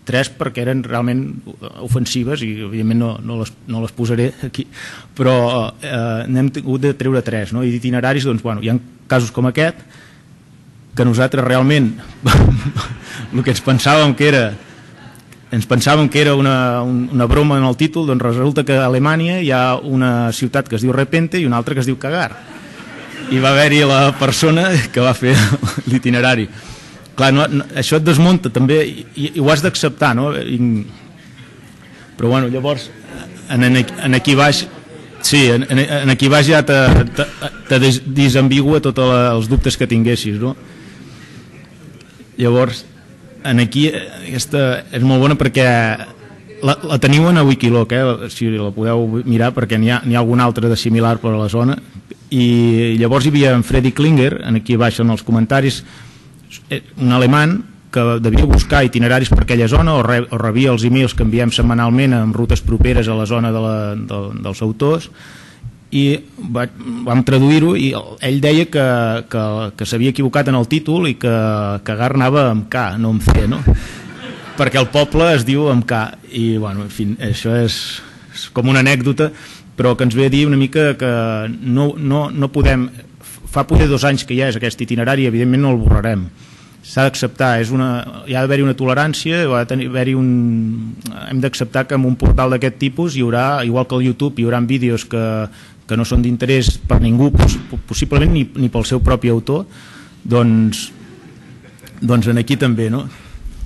B: perquè eren realment ofensives i evidentment no les posaré aquí, però n'hem hagut de treure 3, no? I d'itineraris, doncs, bueno, hi ha casos com aquest que nosaltres realment el que ens pensàvem que era una broma en el títol, doncs resulta que a Alemanya hi ha una ciutat que es diu Repente i una altra que es diu Cagar, i va haver-hi la persona que va fer l'itinerari. Clar, això et desmunta també i ho has d'acceptar, no? Però bueno, llavors en aquí baix sí, en aquí baix ja te desambigua tots els dubtes que tinguessis, no? Llavors aquí aquesta és molt bona perquè la teniu a Wikiloc, si la podeu mirar, perquè n'hi ha algun altre de similar per a la zona. I llavors hi havia en Freddy Klinger, aquí baix en els comentaris, un alemany que devia buscar itineraris per aquella zona o rebia els e-mails que enviem setmanalment amb rutes properes a la zona dels autors, i vam traduir-ho i ell deia que s'havia equivocat en el títol i que Cagar anava amb K, no amb C, no? Perquè el poble es diu amb K, i bueno, en fi, això és com una anècdota, però que ens ve a dir una mica que no podem. Fa poder 2 anys que ja és aquest itinerari, evidentment no el borrarem, s'ha d'acceptar, hi ha d'haver-hi una tolerància, hem d'acceptar que en un portal d'aquest tipus hi haurà, igual que al YouTube, hi haurà vídeos que no són d'interès per ningú, possiblement ni pel seu propi autor, doncs en aquí també, no?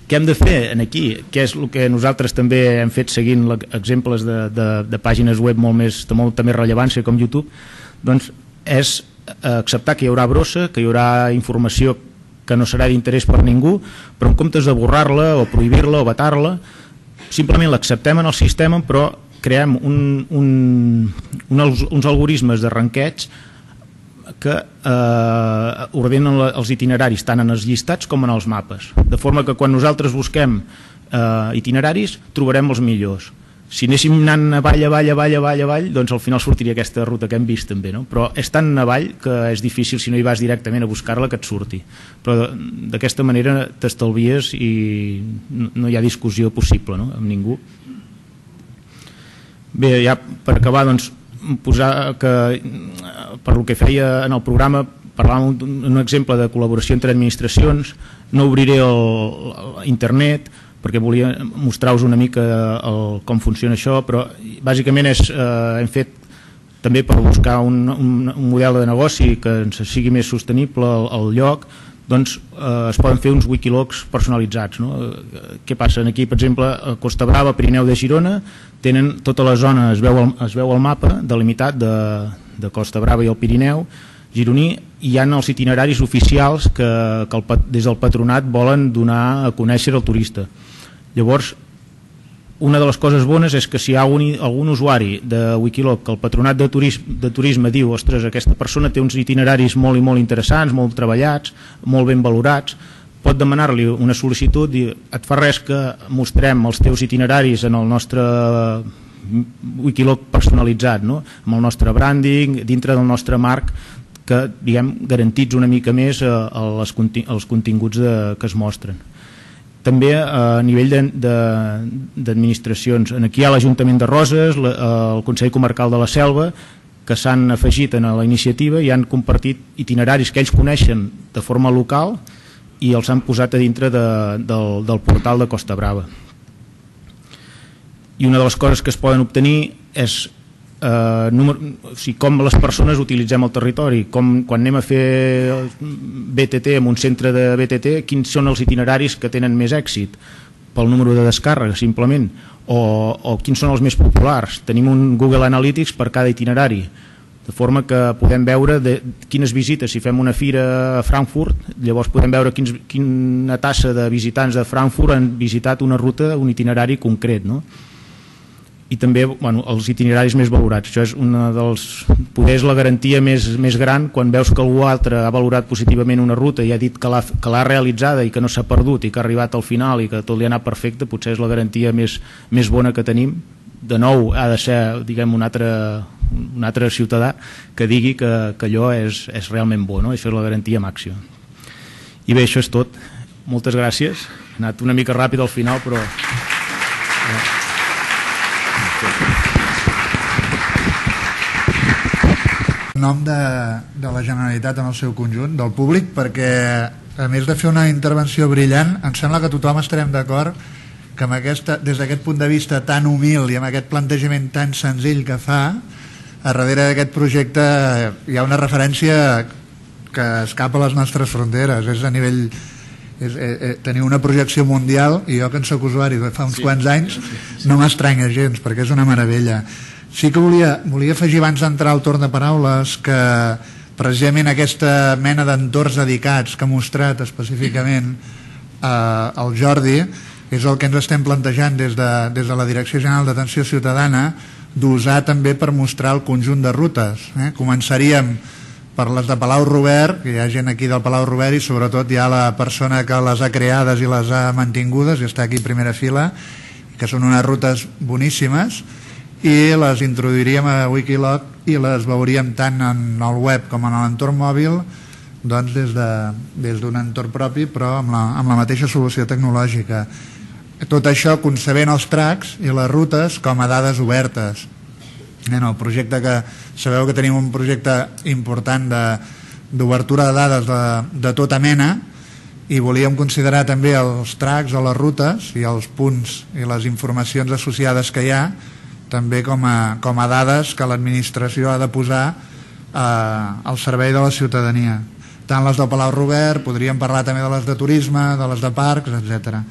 B: Què hem de fer en aquí? Què és el que nosaltres també hem fet seguint exemples de pàgines web de molta més rellevància com YouTube? Doncs és acceptar que hi haurà brossa, que hi haurà informació que no serà d'interès per ningú, però en comptes de borrar-la o prohibir-la o vetar-la, simplement l'acceptem en el sistema, però creem uns algoritmes de ranqueig que ordenen els itineraris tant en els llistats com en els mapes, de forma que quan nosaltres busquem itineraris trobarem els millors. Si anéssim anant avall, doncs al final sortiria aquesta ruta que hem vist també, no? Però és tan avall que és difícil, si no hi vas directament a buscar-la, que et surti. Però d'aquesta manera t'estalvies i no hi ha discussió possible, no?, amb ningú. Bé, ja per acabar, doncs, posar que per el que feia en el programa parlàvem d'un exemple de col·laboració entre administracions. No obriré internet perquè volia mostrar-vos una mica com funciona això, però bàsicament hem fet també per buscar un model de negoci que ens sigui més sostenible al lloc, doncs es poden fer uns Wikilocs personalitzats, no? Què passa? Aquí, per exemple, a Costa Brava, Pirineu de Girona, tenen tota la zona, es veu el mapa delimitat de Costa Brava i el Pirineu gironí, i hi ha els itineraris oficials que des del patronat volen donar a conèixer al turista. Llavors, una de les coses bones és que si hi ha algun usuari de Wikiloc que el patronat de turisme diu, ostres, aquesta persona té uns itineraris molt i molt interessants, molt treballats, molt ben valorats, pot demanar-li una sol·licitud i et fa res que mostrem els teus itineraris en el nostre Wikiloc personalitzat, no? Amb el nostre branding, dintre del nostre marc, que garantitza una mica més els continguts que es mostren. També a nivell d'administracions, aquí hi ha l'Ajuntament de Roses, el Consell Comarcal de la Selva, que s'han afegit a la iniciativa i han compartit itineraris que ells coneixen de forma local i els han posat a dintre del portal de Costa Brava. I una de les coses que es poden obtenir és com les persones utilitzem el territori, quan anem a fer BTT en un centre de BTT, quins són els itineraris que tenen més èxit pel número de descàrrega simplement, o quins són els més populars. Tenim un Google Analytics per cada itinerari, de forma que podem veure quines visites. Si fem una fira a Frankfurt, llavors podem veure quina tassa de visitants de Frankfurt han visitat una ruta, un itinerari concret, no? i també els itineraris més valorats. Això és una dels, poder és la garantia més gran quan veus que algú altre ha valorat positivament una ruta i ha dit que l'ha realitzada i que no s'ha perdut i que ha arribat al final i que tot li ha anat perfecte. Potser és la garantia més bona que tenim. De nou ha de ser, diguem, un altre ciutadà que digui que allò és realment bo, no? Això és la garantia màxima. I bé, això és tot. Moltes gràcies. He anat una mica ràpid al final, però...
C: En nom de la Generalitat en el seu conjunt, del públic, perquè a més de fer una intervenció brillant, em sembla que tothom estarem d'acord que amb des d'aquest punt de vista tan humil i amb aquest plantejament tan senzill que fa, a darrere d'aquest projecte hi ha una referència que escapa a les nostres fronteres, és a nivell... tenir una projecció mundial, i jo que en soc usuari de fa uns quants anys no m'estranya gens, perquè és una meravella. Sí que volia afegir abans d'entrar al torn de paraules que precisament aquesta mena d'entorns dedicats que ha mostrat específicament el Jordi és el que ens estem plantejant des de la Direcció General d'Atenció Ciutadana d'usar també per mostrar el conjunt de rutes. Començaríem per les de Palau Robert, que hi ha gent aquí del Palau Robert i sobretot hi ha la persona que les ha creades i les ha mantingudes i està aquí a primera fila, que són unes rutes boníssimes, i les introduiríem a Wikiloc i les veuríem tant en el web com en l'entorn mòbil, doncs des d'un entorn propi però amb la mateixa solució tecnològica. Tot això concebent els tracks i les rutes com a dades obertes. En el projecte que sabeu que tenim un projecte important d'obertura de dades de tota mena i volíem considerar també els tracks o les rutes i els punts i les informacions associades que hi ha també com a dades que l'administració ha de posar al servei de la ciutadania. Tant les del Palau Robert, podríem parlar també de les de turisme, de les de parcs, etc.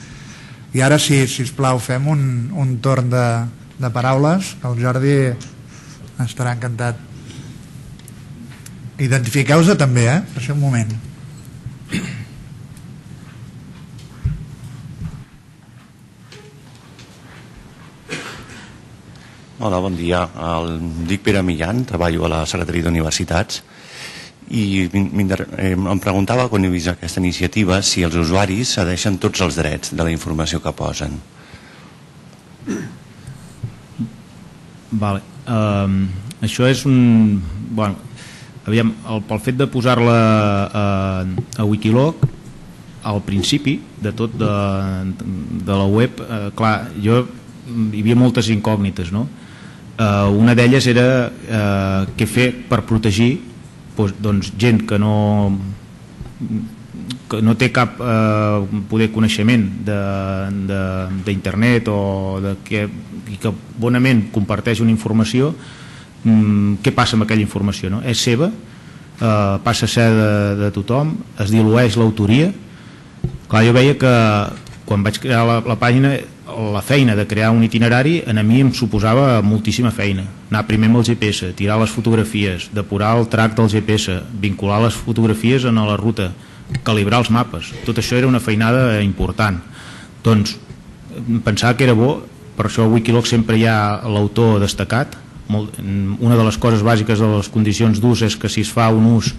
C: I ara sí, sisplau, fem un torn de paraules, que el Jordi estarà encantat. Identifiqueu-se també, per això un moment.
D: Hola, bon dia. Em dic Pere Millan, treballo a la Secretaria d'Universitats i em preguntava quan he vist aquesta iniciativa si els usuaris cedeixen tots els drets de la informació que posen.
B: Vale. Això és un... Bueno, aviam, pel fet de posar-la a Wikiloc, al principi de tot de la web, clar, hi havia moltes incògnites, no? Una d'elles era què fer per protegir doncs, gent que no té cap poder coneixement d'internet o i que bonament comparteix una informació. Què passa amb aquella informació, no? És seva, passa a ser de tothom, es dilueix l'autoria. Clar, jo veia que quan vaig crear la pàgina, la feina de crear un itinerari a mi em suposava moltíssima feina. Anar primer amb el GPS, tirar les fotografies, depurar el track del GPS, vincular les fotografies a la ruta, calibrar els mapes. Tot això era una feinada important. Doncs pensava que era bo, per això a Wikiloc sempre hi ha l'autor destacat. Una de les coses bàsiques de les condicions d'ús és que si es fa un ús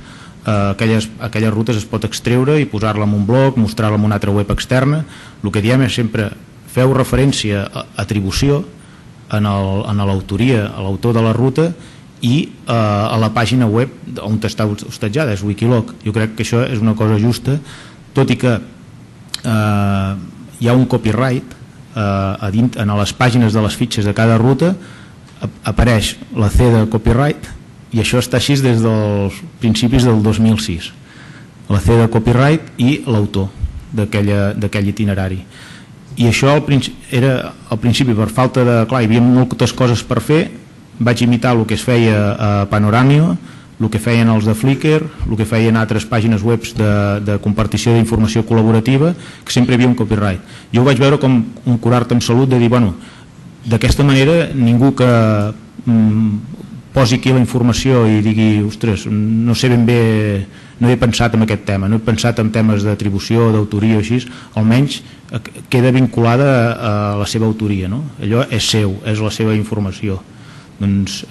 B: aquelles rutes es pot extreure i posar-la en un blog, mostrar-la en una altra web externa. El que diem és sempre feu referència a atribució a l'autoria, a l'autor de la ruta i a la pàgina web on està hostatjada, és Wikiloc. Jo crec que això és una cosa justa, tot i que hi ha un copyright en les pàgines de les fitxes de cada ruta apareix la C de copyright i això està així des dels principis del 2006, la C de copyright i l'autor d'aquell itinerari. I això era al principi per falta de... Clar, hi havia moltes coses per fer, vaig imitar el que es feia a Panoramio, el que feien els de Flickr, el que feien altres pàgines web de compartició d'informació col·laborativa, que sempre hi havia un copyright. Jo ho vaig veure com un curar-te amb salut de dir, bueno, d'aquesta manera ningú que posi aquí la informació i digui, ostres, no sé ben bé, no he pensat en aquest tema, no he pensat en temes d'atribució, d'autoria o així, almenys queda vinculada a la seva autoria, no? Allò és seu, és la seva informació. Doncs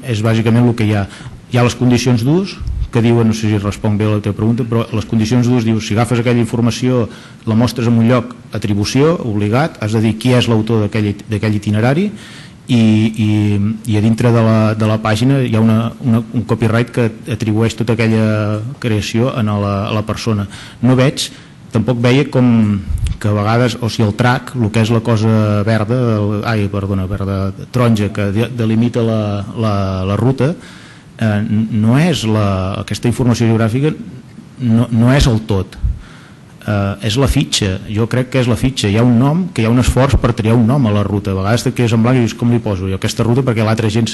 B: és bàsicament el que hi ha. Hi ha les condicions d'ús, que diuen, no sé si responc bé a la teva pregunta, però les condicions d'ús diu, si agafes aquella informació, la mostres en un lloc, atribució, obligat, has de dir qui és l'autor d'aquell itinerari, i a dintre de la pàgina hi ha un copyright que atribueix tota aquella creació a la persona. No veig, tampoc veia com que a vegades, o sigui el track, el que és la cosa verda, verda taronja que delimita la ruta, no és aquesta informació geogràfica, no és el tot, és la fitxa. Jo crec que és la fitxa. Hi ha un nom, que hi ha un esforç per triar un nom a la ruta. A vegades que és en blanc i dius, com li poso jo aquesta ruta perquè l'altra gent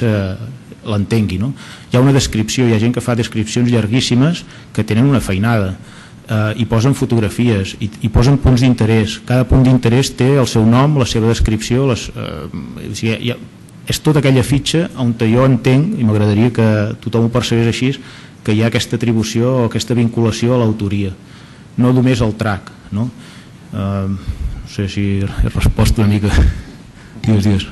B: l'entengui, no? Hi ha una descripció, hi ha gent que fa descripcions llarguíssimes que tenen una feinada, i posen fotografies i posen punts d'interès. Cada punt d'interès té el seu nom, la seva descripció, és tota aquella fitxa on jo entenc, i m'agradaria que tothom ho percebés així, que hi ha aquesta atribució o aquesta vinculació a l'autoria, no només al track, no? No sé si he respost una mica. Digues.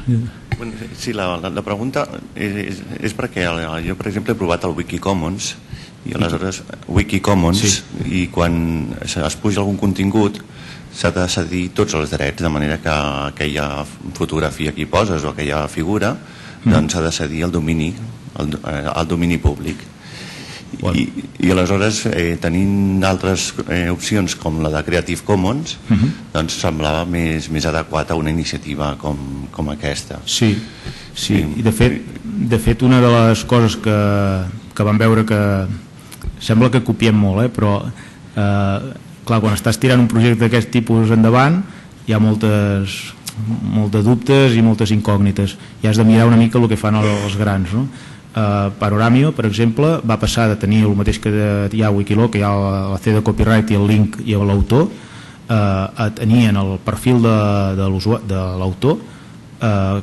D: Sí, la pregunta és perquè jo, per exemple, he provat el Wikicommons, i aleshores Wikicommons, i quan es puja algun contingut s'ha de cedir tots els drets, de manera que aquella fotografia que hi poses o aquella figura doncs s'ha de cedir al domini públic. I aleshores, tenint altres opcions com la de Creative Commons, doncs semblava més adequat a una iniciativa com aquesta.
B: Sí, i de fet una de les coses que vam veure que sembla que copiem molt, però clar, quan estàs tirant un projecte d'aquest tipus endavant hi ha molts dubtes i moltes incògnites, i has de mirar una mica el que fan els grans, no? Panoramio, per exemple, va passar de tenir el mateix que hi ha a Wikiloc, que hi ha la C de copyright i el link i l'autor, a tenir en el perfil de l'autor,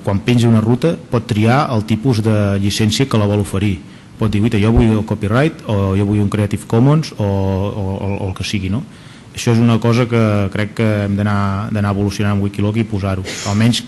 B: quan penja una ruta pot triar el tipus de llicència que la vol oferir. Pot dir, jo vull el copyright, o jo vull un Creative Commons, o el que sigui, no? Això és una cosa que crec que hem d'anar evolucionant en Wikiloc i posar-ho. Almenys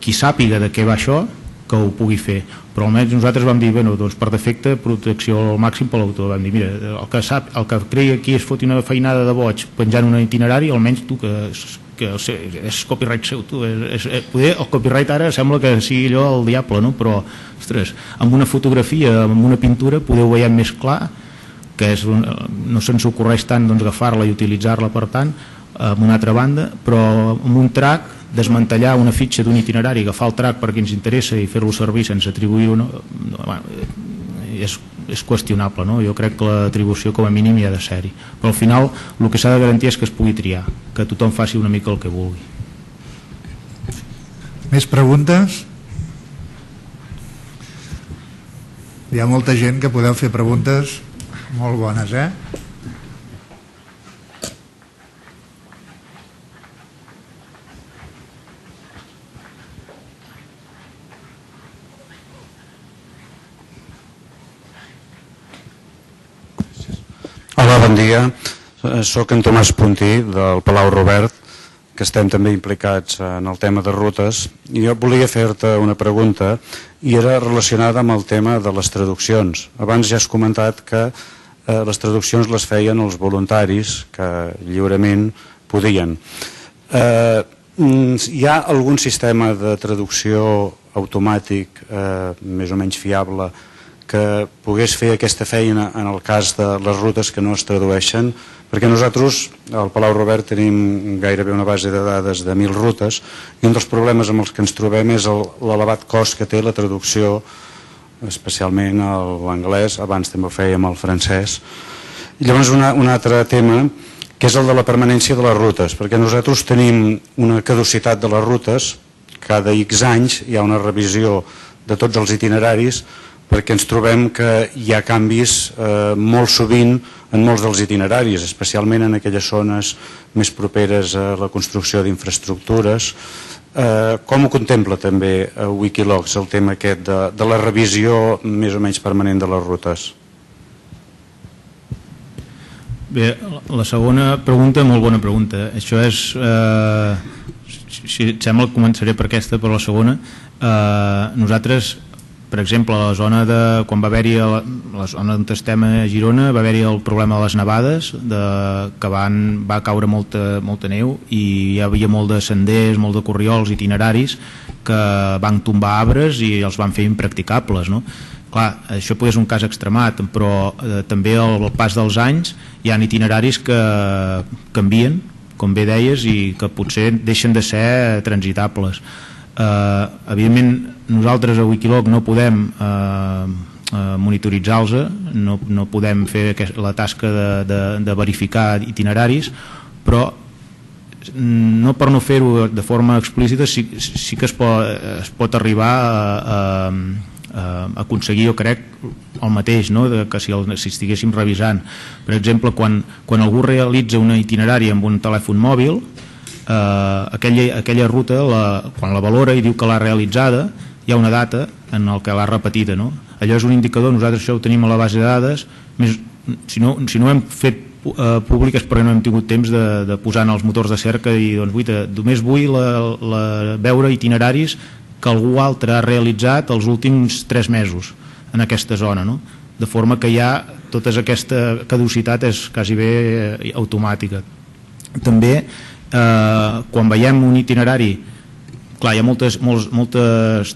B: qui sàpiga de què va això, que ho pugui fer, però almenys nosaltres vam dir, doncs per defecte protecció al màxim per l'autor. Vam dir, mira, el que creia aquí es foti una feinada de boig penjant un itinerari, almenys tu que és copyright seu, poder el copyright ara sembla que sigui allò el diable, no? Però ostres, amb una fotografia, amb una pintura poder ho veiem més clar, que no se'ns ocorreix tant agafar-la i utilitzar-la per tant amb una altra banda, però amb un track desmantellar una fitxa d'un itinerari, agafar el track perquè ens interessa i fer-lo servir sense atribuir-ho, és qüestionable, no? Jo crec que l'atribució com a mínim hi ha de ser-hi, però al final el que s'ha de garantir és que es pugui triar, que tothom faci una mica el que vulgui.
C: Més preguntes? Hi ha molta gent que podeu fer preguntes molt bones,
E: Hola, bon dia. Soc en Tomàs Puntí, del Palau Robert, que estem també implicats en el tema de rutes, i jo volia fer-te una pregunta, i era relacionada amb el tema de les traduccions. Abans ja has comentat que les traduccions les feien els voluntaris, que lliurement podien. Hi ha algun sistema de traducció automàtic més o menys fiable que pogués fer aquesta feina en el cas de les rutes que no es tradueixen? Perquè nosaltres al Palau Robert tenim gairebé una base de dades de 1.000 rutes, i un dels problemes amb els que ens trobem és l'elevat cost que té la traducció, especialment l'anglès, abans també ho fèiem el francès. I llavors un altre tema, que és el de la permanència de les rutes, perquè nosaltres tenim una caducitat de les rutes, cada X anys hi ha una revisió de tots els itineraris, perquè ens trobem que hi ha canvis molt sovint en molts dels itineraris, especialment en aquelles zones més properes a la construcció d'infraestructures. Com ho contempla també Wikilocs, el tema aquest de la revisió més o menys permanent de les rutes?
B: Bé, la segona pregunta, molt bona pregunta. Això és, si et sembla, començaré per aquesta, per la segona. Nosaltres, per exemple, a la zona de, quan va haver-hi la zona on estem a Girona, va haver-hi el problema de les nevades, que va caure molta neu i hi havia molt de senders, molt de corriols, itineraris que van tombar arbres i els van fer impracticables, no? Clar, això potser és un cas extremat, però també al pas dels anys hi ha itineraris que canvien, com bé deies, i que potser deixen de ser transitables. Evidentment nosaltres a Wikiloc no podem monitoritzar-los, no podem fer la tasca de verificar itineraris, però no per no fer-ho de forma explícita sí que es pot arribar a aconseguir, jo crec, el mateix, no? Que si estiguéssim revisant. Per exemple, quan algú realitza un itinerari amb un telèfon mòbil, aquella ruta, quan la valora i diu que l'ha realitzada, hi ha una data en el que l'ha repetida, no? Allò és un indicador, nosaltres això ho tenim a la base de dades, si no ho hem fet públic és perquè no hem tingut temps de posar en els motors de cerca i doncs només vull veure itineraris que algú altre ha realitzat els últims 3 mesos en aquesta zona, no? De forma que ja tota aquesta caducitat és quasi bé automàtica. També quan veiem un itinerari, clar, hi ha moltes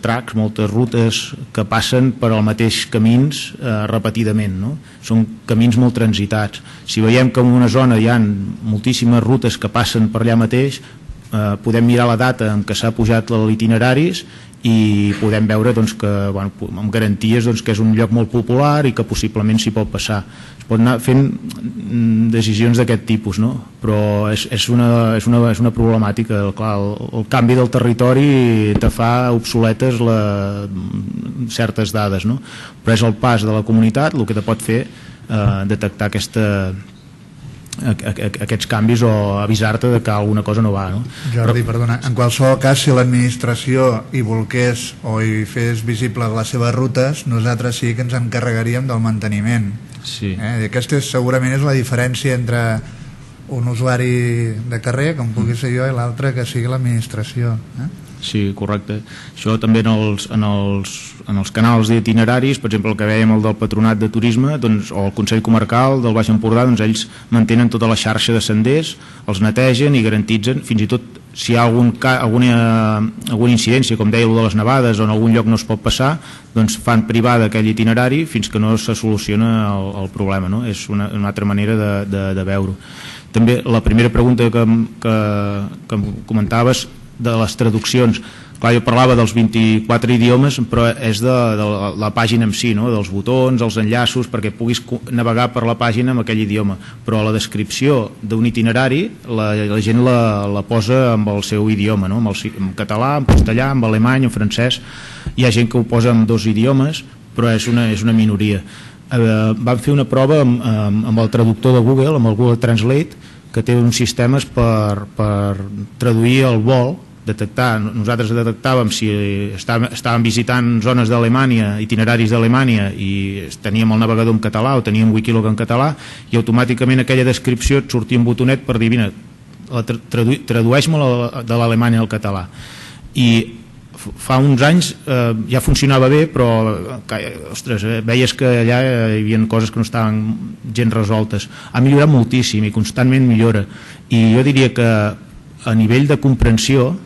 B: tracks, moltes rutes que passen per al mateix camins repetidament, no? Són camins molt transitats. Si veiem que en una zona hi ha moltíssimes rutes que passen per allà mateix, podem mirar la data en què s'ha pujat l'itineraris i podem veure doncs, que, amb garanties doncs, que és un lloc molt popular i que possiblement s'hi pot passar. Es pot anar fent decisions d'aquest tipus, no? Però és una problemàtica. Clar, el canvi del territori te fa obsoletes certes dades, no? Però és el pas de la comunitat el que te pot fer detectar aquests canvis o avisar-te de que alguna cosa no va, no?
C: Jordi, perdona, en qualsevol cas, si l'administració hi volgués o hi fes visible les seves rutes, nosaltres sí que ens encarregaríem del manteniment.
B: Sí.
C: Aquesta segurament és la diferència entre un usuari de carrer, com pugui ser jo, i l'altre que sigui l'administració.
B: Sí, correcte. Això també en els canals d'itineraris, per exemple el que vèiem el del Patronat de Turisme, doncs, o el Consell Comarcal del Baix Empordà, doncs ells mantenen tota la xarxa de senders, els netegen i garantitzen, fins i tot si hi ha alguna incidència, com deia, de les nevades, o en algun lloc no es pot passar, doncs fan privar d'aquell itinerari fins que no se soluciona el problema, no? És una altra manera de veure-ho. També la primera pregunta que comentaves de les traduccions, clar, jo parlava dels 24 idiomes, però és de la pàgina en si, no? Dels botons, els enllaços, perquè puguis navegar per la pàgina amb aquell idioma, però la descripció d'un itinerari la gent la posa amb el seu idioma, no? En català, en castellà, en alemany, en francès. Hi ha gent que ho posa en 2 idiomes, però és una minoria. Vam fer una prova amb el traductor de Google, amb el Google Translate, que té uns sistemes per traduir el vol, nosaltres detectàvem si estàvem visitant zones d'Alemanya, itineraris d'Alemanya, i teníem el navegador en català o teníem Wikiloc en català, i automàticament aquella descripció et sortia un botonet per dir, mira, tradueix-me de l'alemany al català. I fa uns anys ja funcionava bé, però ostres, veies que allà hi havia coses que no estaven gens resoltes. Ha millorat moltíssim i constantment millora, i jo diria que a nivell de comprensió,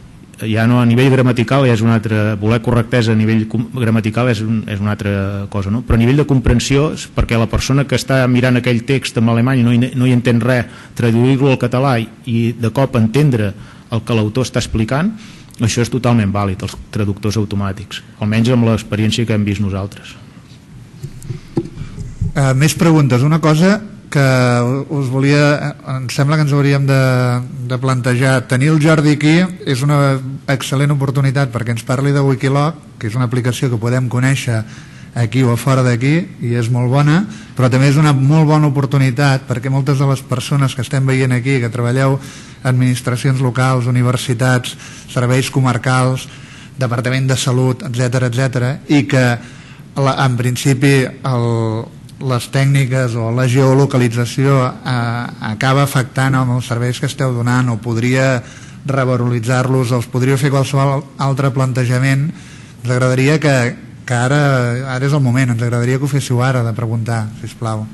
B: ja no a nivell gramatical, ja és una altra, voler correctesa a nivell gramatical és una altra cosa, no? Però a nivell de comprensió, perquè la persona que està mirant aquell text en alemany no hi entén res, traduir-lo al català i de cop entendre el que l'autor està explicant, això és totalment vàlid, els traductors automàtics, almenys amb l'experiència que hem vist nosaltres.
C: Més preguntes. Una cosa que em sembla que ens hauríem de plantejar. Tenir el Jordi aquí és una excel·lent oportunitat perquè ens parli de Wikiloc, que és una aplicació que podem conèixer aquí o fora d'aquí, i és molt bona, però també és una molt bona oportunitat perquè moltes de les persones que estem veient aquí, que treballeu administracions locals, universitats, serveis comarcals, Departament de Salut, etc., i que en principi les tècniques o la geolocalització acaba afectant amb els serveis que esteu donant, o podria revaloritzar-los, o us podríeu fer qualsevol altre plantejament. Ens agradaria que ara és el moment, ens agradaria que ho féssiu ara, de preguntar, sisplau.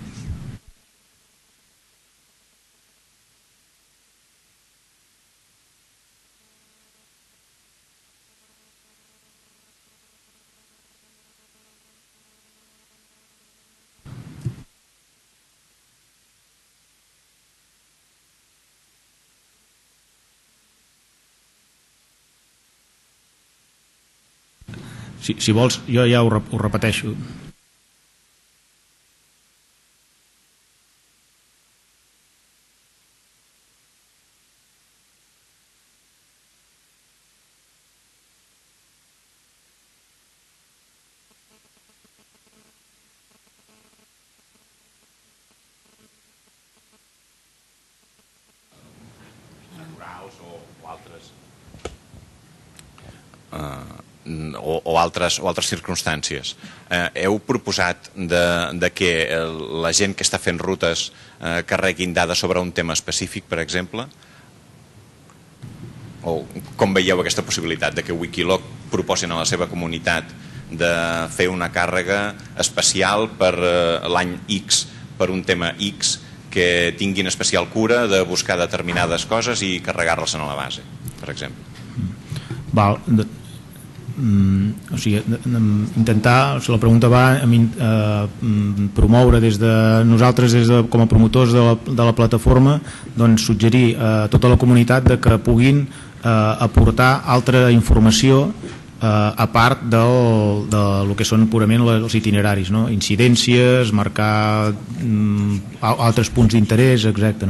B: Si vols, jo ja ho repeteixo.
F: O altres circumstàncies. Heu proposat de que la gent que està fent rutes carreguin dades sobre un tema específic, per exemple? O com veieu aquesta possibilitat de que Wikiloc proposin a la seva comunitat de fer una càrrega especial per l'any X, per un tema X, que tinguin especial cura de buscar determinades coses i carregar-les a la base, per exemple?
B: Val, o sigui, intentar, o sigui, la pregunta va a promoure des de nosaltres, com a promotors de la plataforma, doncs suggerir a tota la comunitat de que puguin aportar altra informació a part del que són purament els itineraris, no? Incidències, marcar altres punts d'interès, etc.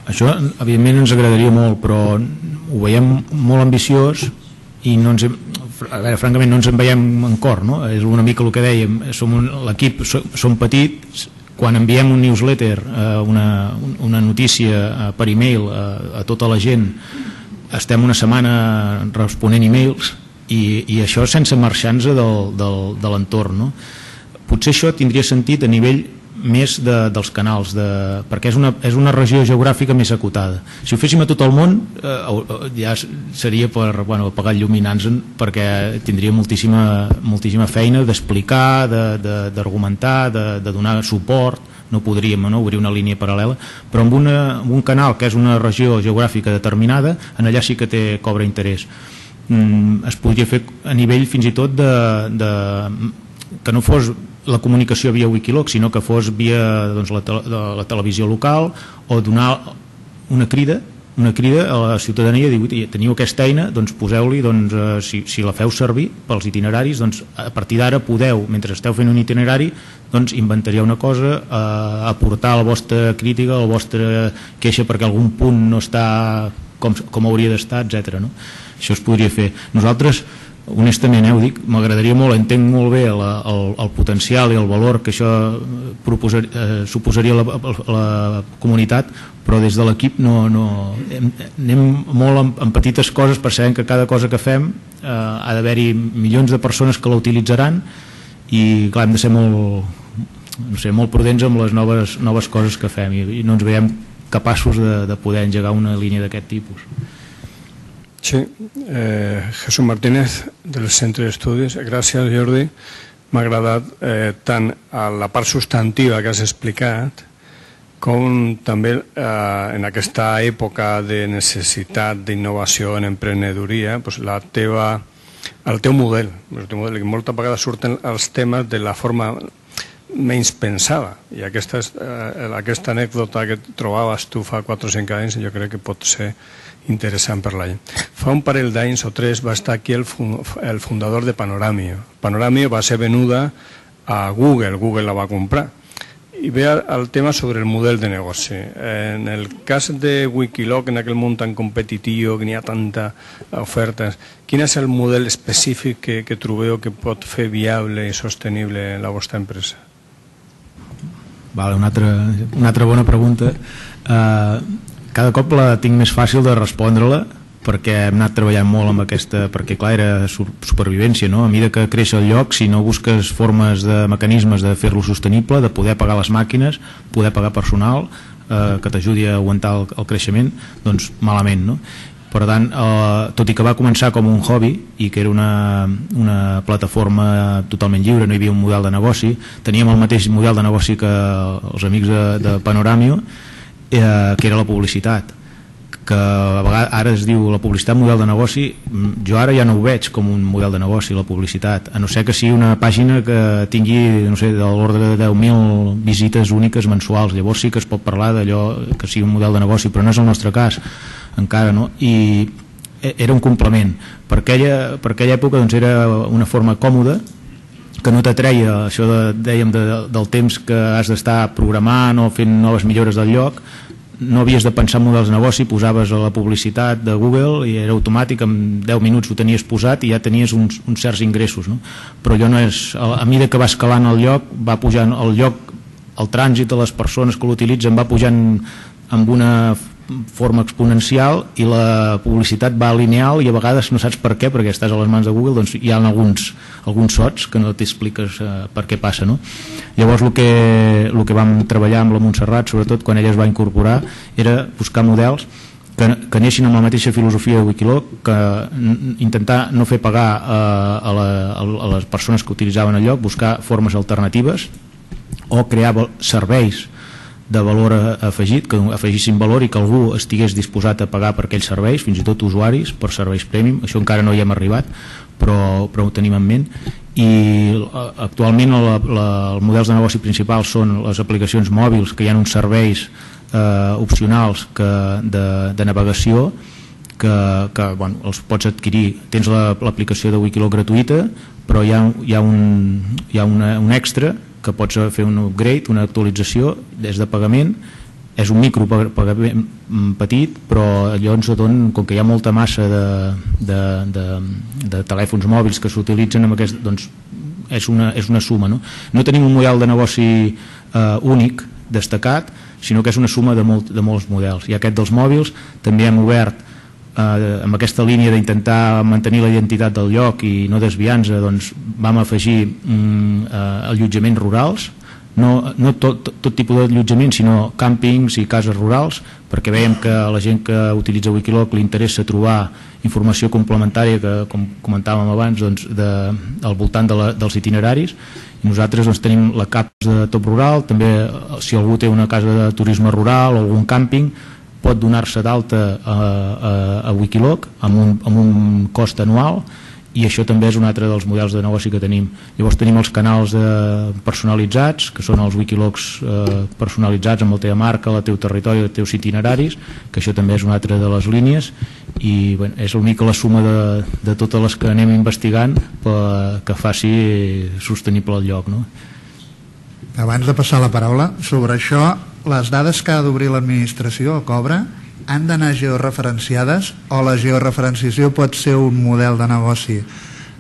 B: Això evidentment ens agradaria molt, però ho veiem molt ambiciós i no ens francament no ens en veiem en cor, no? És una mica el que dèiem, l'equip som petits, quan enviem un newsletter, una notícia per e-mail a tota la gent, estem una setmana responent e-mails i això sense marxar-nos de l'entorn, no? Potser això tindria sentit a nivell més dels canals, perquè és una regió geogràfica més acotada. Si ho féssim a tot el món ja seria per apagar il·luminants, perquè tindria moltíssima feina d'explicar, d'argumentar, de donar suport. No podríem obrir una línia paral·lela, però amb un canal que és una regió geogràfica determinada, en allà sí que cobra interès. Es podria fer a nivell fins i tot que no fos la comunicació via Wikiloc, sinó que fos via la televisió local, o donar una crida a la ciutadania, dir, teniu aquesta eina, doncs poseu-li, si la feu servir pels itineraris, doncs a partir d'ara podeu, mentre esteu fent un itinerari, doncs inventariar una cosa, aportar la vostra crítica, la vostra queixa perquè algun punt no està com hauria d'estar, etc. Això es podria fer. Nosaltres, honestament, ho dic, m'agradaria molt, entenc molt bé el potencial i el valor que això suposaria a la comunitat, però des de l'equip anem molt en petites coses, per saber que cada cosa que fem ha d'haver-hi milions de persones que la utilitzaran i clar, hem de ser molt prudents amb les noves coses que fem i no ens veiem capaços de poder engegar una línia d'aquest tipus.
G: Sí, Jesús Martínez del Centre d'Estudis. Gràcies, Jordi. M'ha agradat tant a la part substantiva que has explicat com també en aquesta època de necessitat d'innovació en emprenedoria, el teu model, que moltes vegades surten els temes de la forma menys pensada, i aquesta anècdota que trobaves tu fa 4 o 5 anys jo crec que pot ser interessant per la gent. Fa un parell d'anys o 3 va estar aquí el fundador de Panoramio. Panoramio va ser venuda a Google la va comprar Y vea al tema sobre el modelo de negoci. En el cas de Wikiloc, en aquell món tan competitiu, que n'hi ha tanta ofertes, quin és el model específic que trobeu que pot fer viable i sostenible la vostra empresa?
B: Vale, una altra bona pregunta. Cada cop la tinc més fàcil de respondre-la, perquè hem anat treballant molt amb aquesta, perquè clar, era supervivència, no? A mesura que creix el lloc, si no busques formes de mecanismes de fer-lo sostenible, de poder pagar les màquines, poder pagar personal que t'ajudi a aguantar el creixement, doncs malament, no? Per tant, tot i que va començar com un hobby i que era una plataforma totalment lliure, no hi havia un model de negoci, teníem el mateix model de negoci que els amics de Panoramio, que era la publicitat, que a vegades ara es diu la publicitat model de negoci. Jo ara ja no ho veig com un model de negoci, la publicitat, a no ser que sigui una pàgina que tingui, no sé, de l'ordre de 10.000 visites úniques mensuals. Llavors sí que es pot parlar d'allò que sigui un model de negoci, però no és el nostre cas encara, no? I era un complement. Per aquella època doncs, era una forma còmoda, que no t'atreia això dèiem del temps que has d'estar programant o fent noves millores del lloc. No havies de pensar en models de negoci, posaves a la publicitat de Google i era automàtic, en 10 minuts ho tenies posat i ja tenies uns certs ingressos, no? Però allò no és, a mesura que va escalant el lloc, va pujant el lloc, el trànsit de les persones que l'utilitzen va pujant amb una forma exponencial i la publicitat va lineal i a vegades no saps per què, perquè estàs a les mans de Google, doncs hi ha alguns sots que no t'expliques per què passa, no? Llavors el que vam treballar amb la Montserrat, sobretot quan ella es va incorporar, era buscar models que neixin amb la mateixa filosofia de Wikiloc, que intentar no fer pagar a les persones que utilitzaven el lloc, buscar formes alternatives o crear serveis de valor afegit, que afegissin valor i que algú estigués disposat a pagar per aquells serveis, fins i tot usuaris per serveis premium. Això encara no hi hem arribat, però ho tenim en ment. I actualment els models de negoci principals són les aplicacions mòbils, que hi ha uns serveis opcionals de navegació que bueno, els pots adquirir. Tens l'aplicació de Wikiloc gratuïta, però hi ha un extra que pots fer un upgrade, una actualització des de pagament. És un micropagament petit, però llavors, com que hi ha molta massa de telèfons mòbils que s'utilitzen amb aquest, doncs és una suma, no? No tenim un model de negoci únic, destacat, sinó que és una suma de molts models. I aquest dels mòbils també hem obert amb aquesta línia d'intentar mantenir la identitat del lloc i no desviar-nos, doncs vam afegir allotjaments rurals, no tot tipus d'allotjament, sinó càmpings i cases rurals, perquè veiem que a la gent que utilitza Wikiloc li interessa trobar informació complementària, que com comentàvem abans, doncs, al voltant dels itineraris. I nosaltres doncs, tenim la CAPS de Top Rural, també si algú té una casa de turisme rural o algun càmping, pot donar-se d'alta a Wikiloc amb un cost anual, i això també és un altre dels models de negoci que tenim. Llavors tenim els canals personalitzats, que són els Wikilocs personalitzats amb la teva marca, el teu territori, els teus itineraris, que això també és una altra de les línies, i bueno, és una mica la suma de totes les que anem investigant que faci sostenible el lloc, no?
C: Abans de passar la paraula sobre això, les dades que ha d'obrir l'administració o cobra han d'anar georreferenciades, o la georreferenciació pot ser un model de negoci?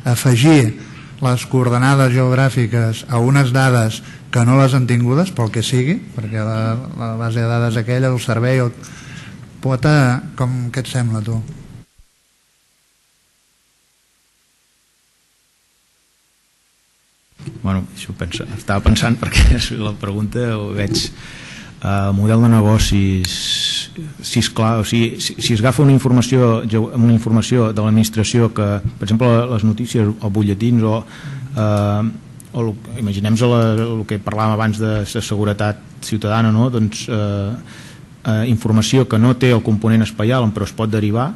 C: Afegir les coordenades geogràfiques a unes dades que no les han tingudes, pel que sigui, perquè la base de dades aquella, el servei, què et sembla, tu?
B: Bueno, això estava pensant, perquè la pregunta ho veig. Model de negocis, si és clar, o sigui, si es agafa una informació de l'administració, que per exemple les notícies o butlletins o imaginem el que parlàvem abans de seguretat ciutadana, no? Doncs informació que no té el component espaial però es pot derivar.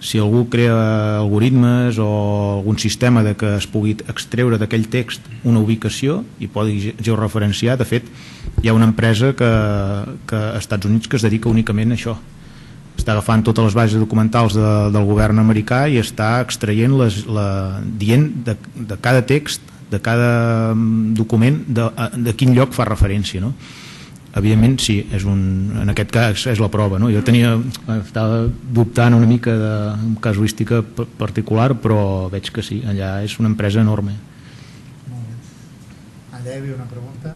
B: Si algú crea algoritmes o algun sistema que es pugui extreure d'aquell text una ubicació i podi georreferenciar, de fet hi ha una empresa que als Estats Units que es dedica únicament a això, està agafant totes les bases documentals del govern americà i està extraient dient de cada text document de quin lloc fa referència, no? Evidentment, sí, en aquest cas és la prova, no? Jo estava dubtant una mica de casuística particular, però veig que sí, allà és una empresa enorme.
C: Molt bé. Allà hi havia una pregunta.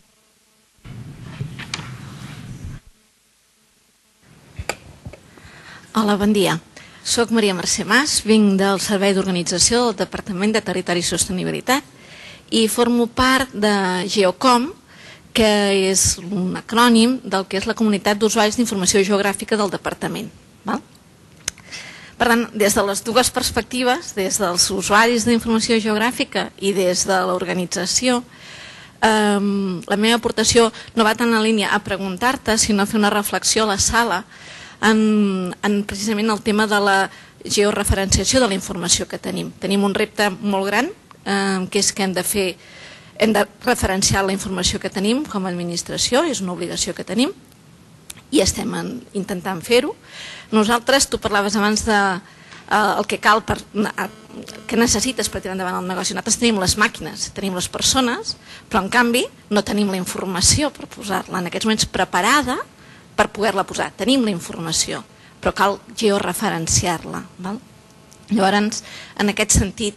H: Hola, bon dia. Soc Maria Mercè Mas, vinc del Servei d'Organització del Departament de Territori i Sostenibilitat i formo part de GeoCom, que és un acrònim del que és la Comunitat d'Usuaris d'Informació Geogràfica del Departament. Per tant, des de les dues perspectives, des dels usuaris d'informació geogràfica i des de l'organització, la meva aportació no va tant en línia a preguntar-te, sinó a fer una reflexió a la sala en precisament el tema de la georreferenciació de la informació que tenim. Tenim un repte molt gran, que és que hem de referenciar la informació que tenim com a administració, és una obligació que tenim i estem intentant fer-ho. Nosaltres, tu parlaves abans del que cal, que necessites per tirar endavant el negoci. Nosaltres tenim les màquines, tenim les persones, però en canvi no tenim la informació per posar-la en aquests moments preparada per poder-la posar. Tenim la informació, però cal georreferenciar-la. Llavors, en aquest sentit,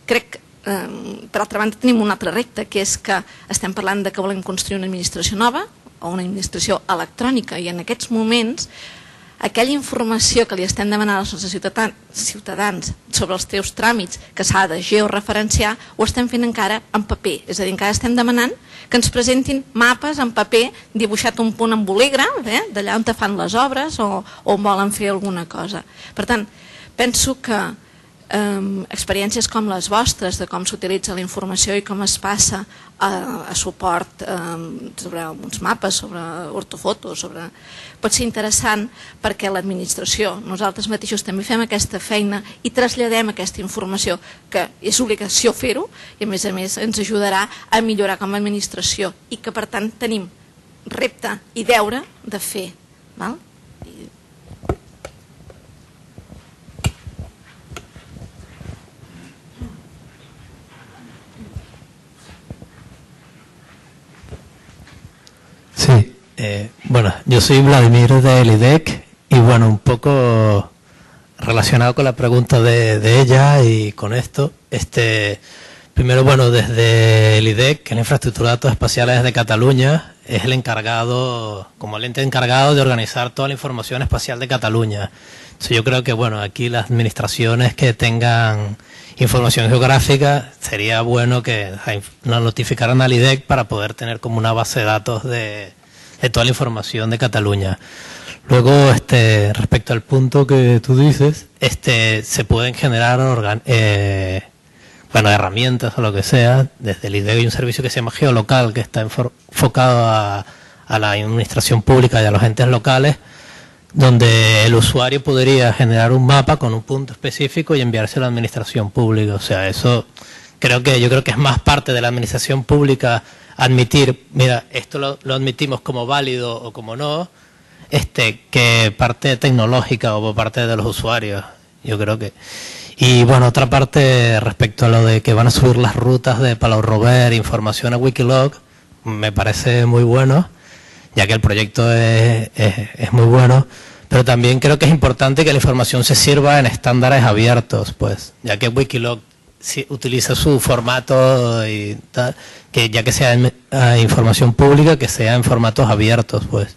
H: crec que per altra banda tenim un altre repte, que és que estem parlant de que volem construir una administració nova o una administració electrònica i en aquests moments aquella informació que li estem demanant als nostres ciutadans sobre els teus tràmits que s'ha de georreferenciar ho estem fent encara en paper, és a dir, encara estem demanant que ens presentin mapes en paper dibuixat un punt en bolígraf d'allà on te fan les obres o volen fer alguna cosa. Per tant, penso que experiències com les vostres de com s'utilitza la informació i com es passa a suport sobre uns mapes, sobre ortofotos, pot ser interessant perquè l'administració, nosaltres mateixos també fem aquesta feina i traslladem aquesta informació, que és obligació fer-ho i a més ens ajudarà a millorar com a administració i que per tant tenim repte i deure de fer.
I: Sí, bueno, yo soy Vladimir del IDEC y bueno, un poco relacionado con la pregunta de ella y con esto, primero, bueno, desde el IDEC, que es la Infraestructura de Datos Espaciales de Cataluña, es el encargado, como el ente encargado de organizar toda la información espacial de Cataluña. Entonces yo creo que, bueno, aquí las administraciones que tengan información geográfica, sería bueno que nos notificaran al IDEC para poder tener como una base de datos de toda la información de Cataluña. Luego, respecto al punto que tú dices, se pueden generar herramientas o lo que sea. Desde el IDEC hay un servicio que se llama Geolocal, que está enfocado a la administración pública y a los entes locales, donde el usuario podría generar un mapa con un punto específico y enviarse a la administración pública. O sea, eso yo creo que es más parte de la administración pública admitir, mira, esto lo admitimos como válido o como no, que parte tecnológica o por parte de los usuarios. Yo creo que... Y bueno, otra parte respecto a lo de que van a subir las rutas de Palau Robert, información a Wikiloc, me parece muy bueno, ya que el proyecto es muy bueno, pero también creo que es importante que la información se sirva en estándares abiertos, pues, ya que Wikiloc utiliza su formato y tal, que ya que sea información pública, que sea en formatos abiertos, pues.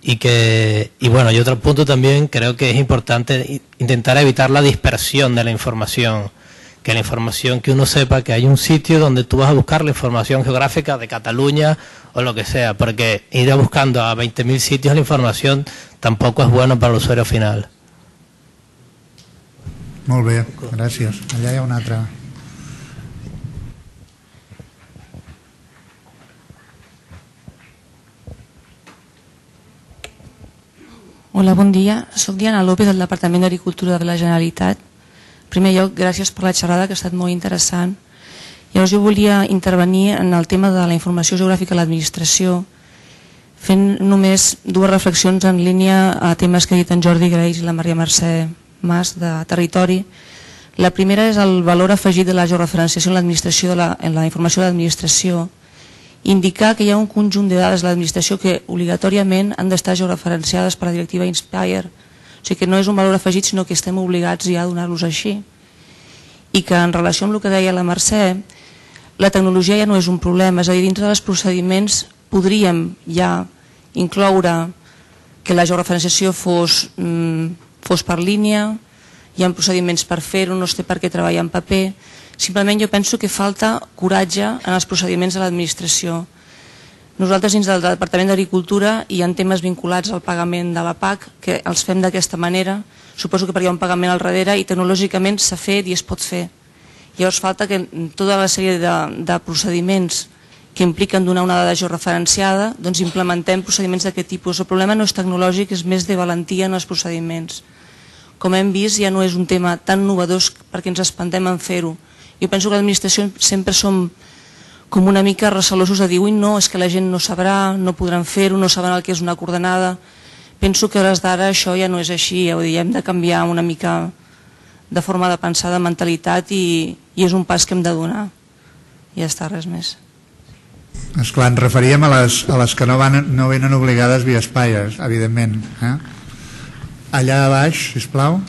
I: Y bueno, y otro punto también, creo que es importante intentar evitar la dispersión de la información, que la información, que uno sepa que hay un sitio donde tú vas a buscar la información geográfica de Cataluña o lo que sea, porque ir buscando a 20.000 sitios la información tampoco es bueno para el usuario final.
C: Molt bé, gràcies. Allà hi ha una altra.
J: Hola, bon dia. Soc Diana López del Departament d'Agricultura de la Generalitat. En primer lloc, gràcies per la xerrada, que ha estat molt interessant. Llavors jo volia intervenir en el tema de la informació geogràfica a l'administració, fent només dues reflexions en línia a temes que ha dit en Jordi Greix i la Maria Mercè Mas de territori. La primera és el valor afegit de la georreferenciació en l'administració, en la informació de l'administració, indicar que hi ha un conjunt de dades de l'administració que obligatòriament han d'estar georreferenciades per la directiva Inspire. O sigui que no és un valor afegit, sinó que estem obligats ja a donar-los així. I que en relació amb el que deia la Mercè, la tecnologia ja no és un problema, és a dir, dintre dels procediments podríem ja incloure que la georreferenciació fos per línia, hi ha procediments per fer-ho, no es té per què treballar en paper. Simplement jo penso que falta coratge en els procediments de l'administració. Nosaltres dins del Departament d'Agricultura hi ha temes vinculats al pagament de la PAC que els fem d'aquesta manera, suposo que perquè hi ha un pagament al darrere i tecnològicament s'ha fet i es pot fer. Llavors falta que tota la sèrie de procediments que impliquen donar una dada georreferenciada, doncs implementem procediments d'aquest tipus. El problema no és tecnològic, és més de valentia en els procediments. Com hem vist, ja no és un tema tan novedós perquè ens espantem en fer-ho. Jo penso que l'administració sempre som com una mica recelosos de dir ui, no, és que la gent no sabrà, no podran fer-ho, no saben el que és una coordenada. Penso que a hores d'ara això ja no és així, hem de canviar una mica de forma de pensar, de mentalitat i és un pas que hem de donar. Ja està, res més.
C: Esclar, ens referíem a les que no venen obligades via Spire, evidentment. Allà a baix, sisplau.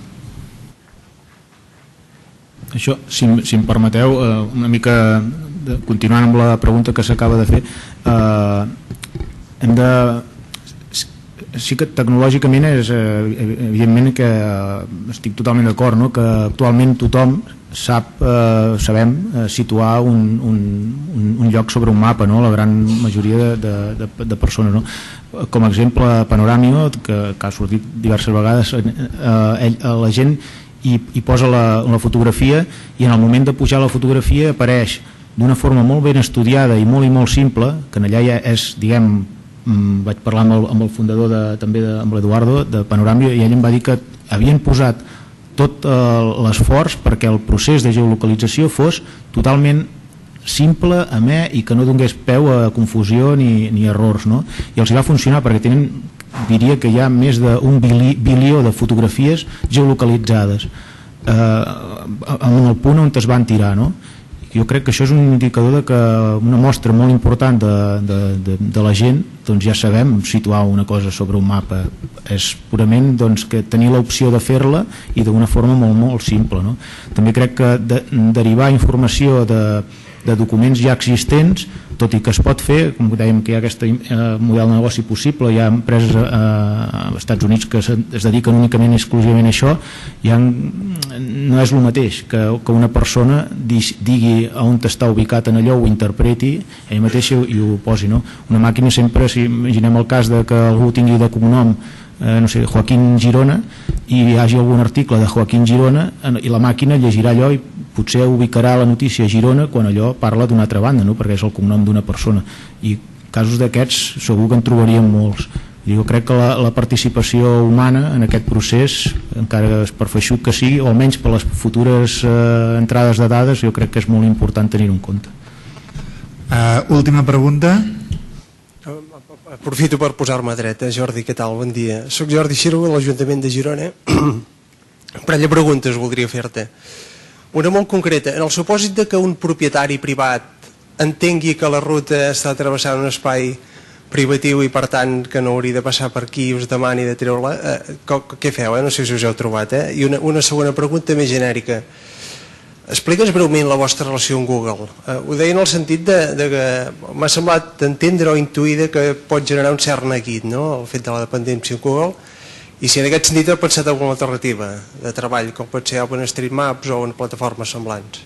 B: Això, si em permeteu, una mica continuant amb la pregunta que s'acaba de fer, hem de... Sí que tecnològicament és evidentment que estic totalment d'acord, no? Que actualment tothom sabem situar un lloc sobre un mapa, no? La gran majoria de persones, no? Com a exemple Panoramio, que ha sortit diverses vegades, la gent hi posa la fotografia i en el moment de pujar la fotografia apareix d'una forma molt ben estudiada i molt simple, que allà ja és, diguem, vaig parlar amb el fundador també amb l'Eduardo de Panoramio i ell em va dir que havien posat tot l'esforç perquè el procés de geolocalització fos totalment simple, amè i que no donés peu a confusió ni errors, no? I els va funcionar perquè tenen, diria que hi ha més d'un bilió de fotografies geolocalitzades en el punt on es van tirar, no? Jo crec que això és un indicador de que una mostra molt important de la gent, doncs ja sabem situar una cosa sobre un mapa, és purament que tenir l'opció de fer-la i d'una forma molt simple, no? També crec que derivar informació de documents ja existents, tot i que es pot fer, com dèiem que hi ha aquest model de negoci possible, hi ha empreses als Estats Units que es dediquen únicament i exclusivament a això, no és el mateix que una persona digui on està ubicat en allò, ho interpreti ell mateix i ho posi, no? Una màquina sempre, si imaginem el cas de que algú tingui de cognom no sé, Joaquín Girona i hi hagi algun article de Joaquín Girona i la màquina llegirà allò i potser ubicarà la notícia a Girona quan allò parla d'una altra banda, no? Perquè és el cognom d'una persona i casos d'aquests segur que en trobaríem molts. Jo crec que la participació humana en aquest procés, encara es per feixuc que sigui, o almenys per les futures entrades de dades, jo crec que és molt important tenir-ho en compte.
C: Última pregunta.
K: Aprofito per posar-me dreta. Jordi, què tal? Bon dia. Soc Jordi Xirgo, de l'Ajuntament de Girona. Un parell de preguntes voldria fer-te. Una molt concreta. En el supòsit de que un propietari privat entengui que la ruta està travessant un espai privatiu i per tant que no hauria de passar per aquí i us demani de treure-la, què feu? No sé si us heu trobat. I una segona pregunta més genèrica. Explica'ns breument la vostra relació amb Google. Ho deia en el sentit de que m'ha semblat entendre o intuir que pot generar un cert neguit, no? El fet de la dependència amb Google, i si en aquest sentit heu pensat alguna alternativa de treball, com pot ser OpenStreetMaps o en plataformes semblants.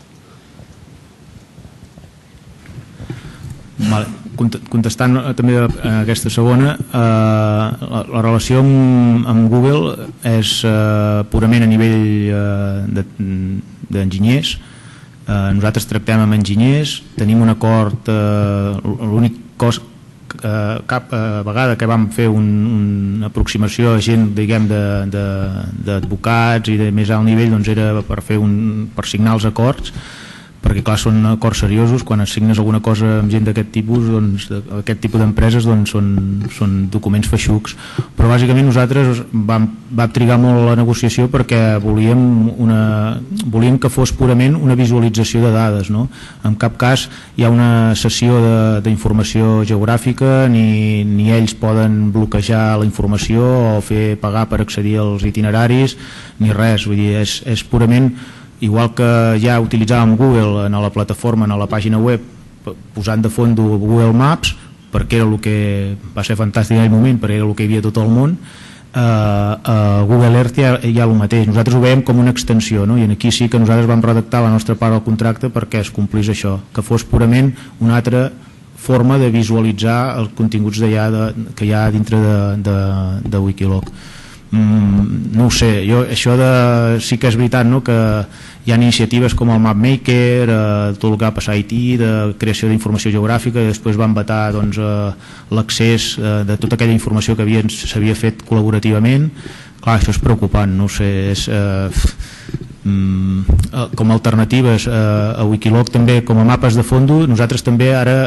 B: Contestant també a aquesta segona, la relació amb Google és purament a nivell d'enginyers. Nosaltres tractem amb enginyers, tenim un acord, l'únic cos cap vegada que vam fer una aproximació a gent, diguem, d'advocats i de més alt nivell, doncs era per signar els acords, perquè clar, són acords seriosos. Quan assignes alguna cosa amb gent d'aquest tipus, doncs, aquest tipus d'empreses, doncs, són documents feixucs. Però bàsicament nosaltres vam trigar molt la negociació perquè volíem que fos purament una visualització de dades, no? En cap cas hi ha una sessió d'informació geogràfica, ni ells poden bloquejar la informació o fer pagar per accedir als itineraris, ni res. Vull dir, és purament igual que ja utilitzàvem Google en la plataforma, en la pàgina web, posant de fons Google Maps, perquè era el que va ser fantàstic en aquell moment, perquè era el que hi havia tot el món. A Google Earth hi ha el mateix. Nosaltres ho veiem com una extensió, no? I aquí sí que nosaltres vam redactar la nostra part del contracte perquè es complís això, que fos purament una altra forma de visualitzar els continguts que hi ha dintre de Wikiloc. No ho sé, sí que és veritat, no? Que hi ha iniciatives com el MapMaker, tot el que va passar a Haití, de creació d'informació geogràfica, i després van vetar l'accés de tota aquella informació que s'havia fet col·laborativament. Clar, això és preocupant, no ho sé, com a alternatives a Wikiloc també, com a mapes de fondo, nosaltres també ara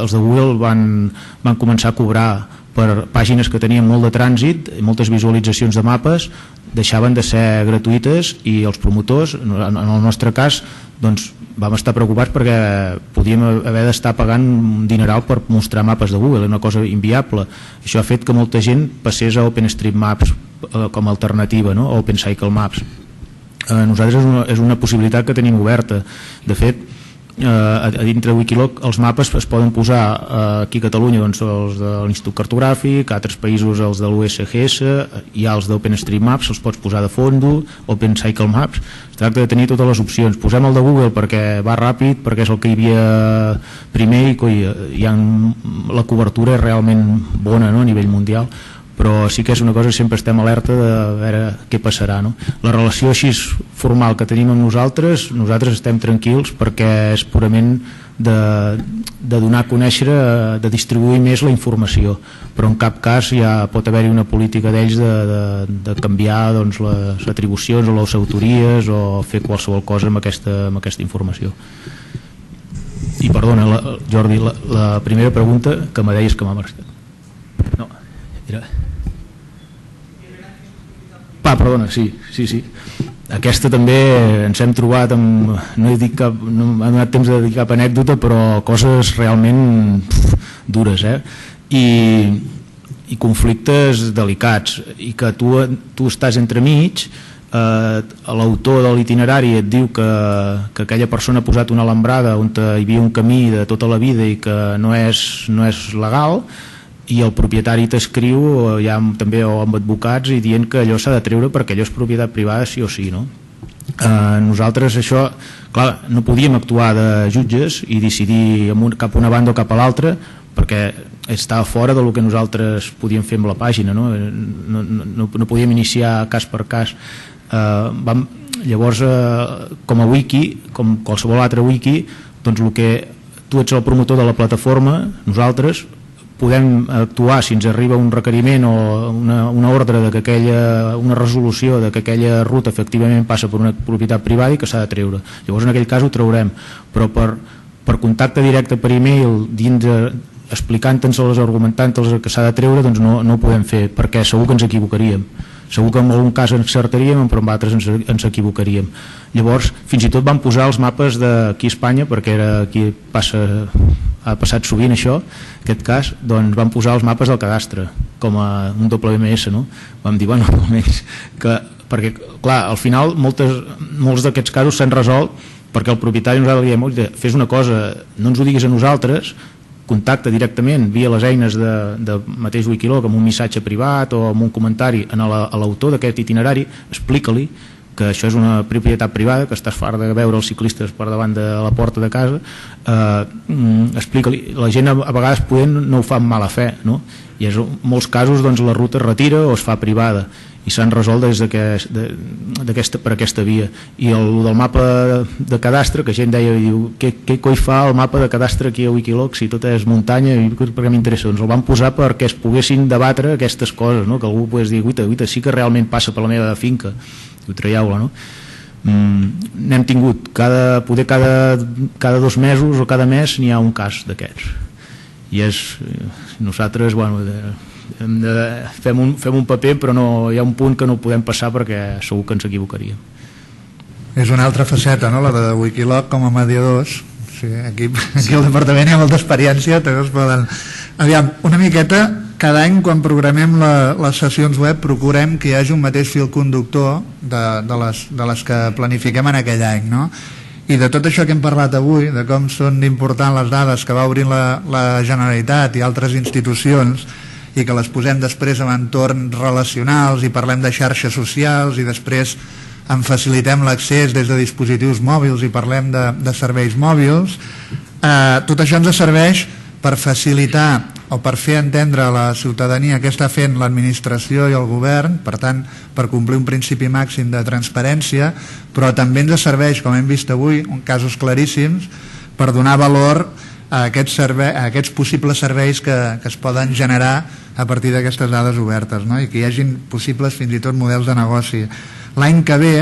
B: els de Google van començar a cobrar per pàgines que tenien molt de trànsit i moltes visualitzacions de mapes, deixaven de ser gratuïtes, i els promotors, en el nostre cas, doncs vam estar preocupats perquè podíem haver d'estar pagant un dineral per mostrar mapes de Google, una cosa inviable. Això ha fet que molta gent passés a OpenStreetMaps com a alternativa, no? A OpenCycleMaps. Nosaltres és una possibilitat que tenim oberta. De fet, a dintre de Wikiloc els mapes es poden posar aquí a Catalunya, doncs, els de l'Institut Cartogràfic, a altres països els de l'USGS, hi ha els d'OpenStreetMaps, els pots posar de fondo, OpenCycleMaps. Es tracta de tenir totes les opcions. Posem el de Google perquè va ràpid, perquè és el que hi havia primer, i la cobertura és realment bona, no? A nivell mundial. Però sí que és una cosa que sempre estem alerta de veure què passarà, no? La relació així formal que tenim amb nosaltres estem tranquils perquè és purament de donar a conèixer, de distribuir més la informació, però en cap cas ja pot haver-hi una política d'ells de canviar, doncs, les atribucions o les autories o fer qualsevol cosa amb aquesta informació. I perdona, Jordi, la primera pregunta que me deies que m'ha marcat. No, era... perdona, sí. Aquesta també ens hem trobat no m'ha donat temps de dedicar cap anècdota, però coses realment dures, i conflictes delicats, i que tu estàs entremig. L'autor de l'itinerari et diu que aquella persona ha posat una alambrada on hi havia un camí de tota la vida i que no és legal, i el propietari t'escriu ja també amb advocats i dient que allò s'ha de treure perquè allò és propietat privada sí o sí, no? Nosaltres això, clar, no podíem actuar de jutges i decidir cap a una banda o cap a l'altra perquè estava fora del que nosaltres podíem fer amb la pàgina, no? No podíem iniciar cas per cas. Llavors, com a wiki, com qualsevol altre wiki, doncs el que tu ets el promotor de la plataforma, nosaltres podem actuar si ens arriba un requeriment o una ordre, una resolució de que aquella ruta efectivament passa per una propietat privada i que s'ha de treure. Llavors en aquell cas ho traurem, però per contacte directe per e-mail explicant-nos-les, argumentant-nos que s'ha de treure, doncs no ho podem fer, perquè segur que ens equivocaríem. Segur que en algun cas ens encertaríem, però en altres ens equivocaríem. Llavors, fins i tot vam posar els mapes d'aquí a Espanya, perquè aquí ha passat sovint això, aquest cas, doncs vam posar els mapes del cadastre, com a un WMS, no? Vam dir, bueno, almenys, perquè, clar, al final molts d'aquests casos s'han resolt perquè el propietari nosaltres li diem, fes una cosa, no ens ho diguis a nosaltres, contacta directament via les eines de mateix Wikiloc amb un missatge privat o amb un comentari a l'autor d'aquest itinerari, explica-li que això és una propietat privada, que estàs fart de veure els ciclistes per davant de la porta de casa, explica-li. La gent a vegades no ho fa amb mala fe, no? I en molts casos doncs, la ruta es retira o es fa privada i s'han resolt per aquesta via. I el del mapa de cadastre, que gent deia, què coi fa el mapa de cadastre aquí a Wikiloc si tot és muntanya, i per què m'interessa? Doncs el van posar perquè es poguessin debatre aquestes coses, no? Que algú pogués dir, guita, sí que realment passa per la meva finca, i ho traieu-la, no? n'hem tingut poder cada 2 mesos o cada mes n'hi ha un cas d'aquests, i nosaltres fem un paper, però hi ha un punt que no podem passar perquè segur que ens equivocaríem.
C: És una altra faceta, no?, la de Wikiloc com a mediadors. Sí, aquí al departament hi ha molta experiència, també es poden... Aviam, una miqueta, cada any quan programem les sessions web procurem que hi hagi un mateix fil conductor de les que planifiquem en aquell any, no? I de tot això que hem parlat avui, de com són importants les dades que va obrint la Generalitat i altres institucions, i que les posem després en entorns relacionals i parlem de xarxes socials i després en facilitem l'accés des de dispositius mòbils i parlem de serveis mòbils, tot això ens serveix per facilitar o per fer entendre a la ciutadania què està fent l'administració i el govern, per tant, per complir un principi màxim de transparència, però també ens serveix, com hem vist avui, en casos claríssims, per donar valor a aquests possibles serveis que es poden generar a partir d'aquestes dades obertes, no? I que hi hagin possibles fins i tot models de negoci. L'any que ve,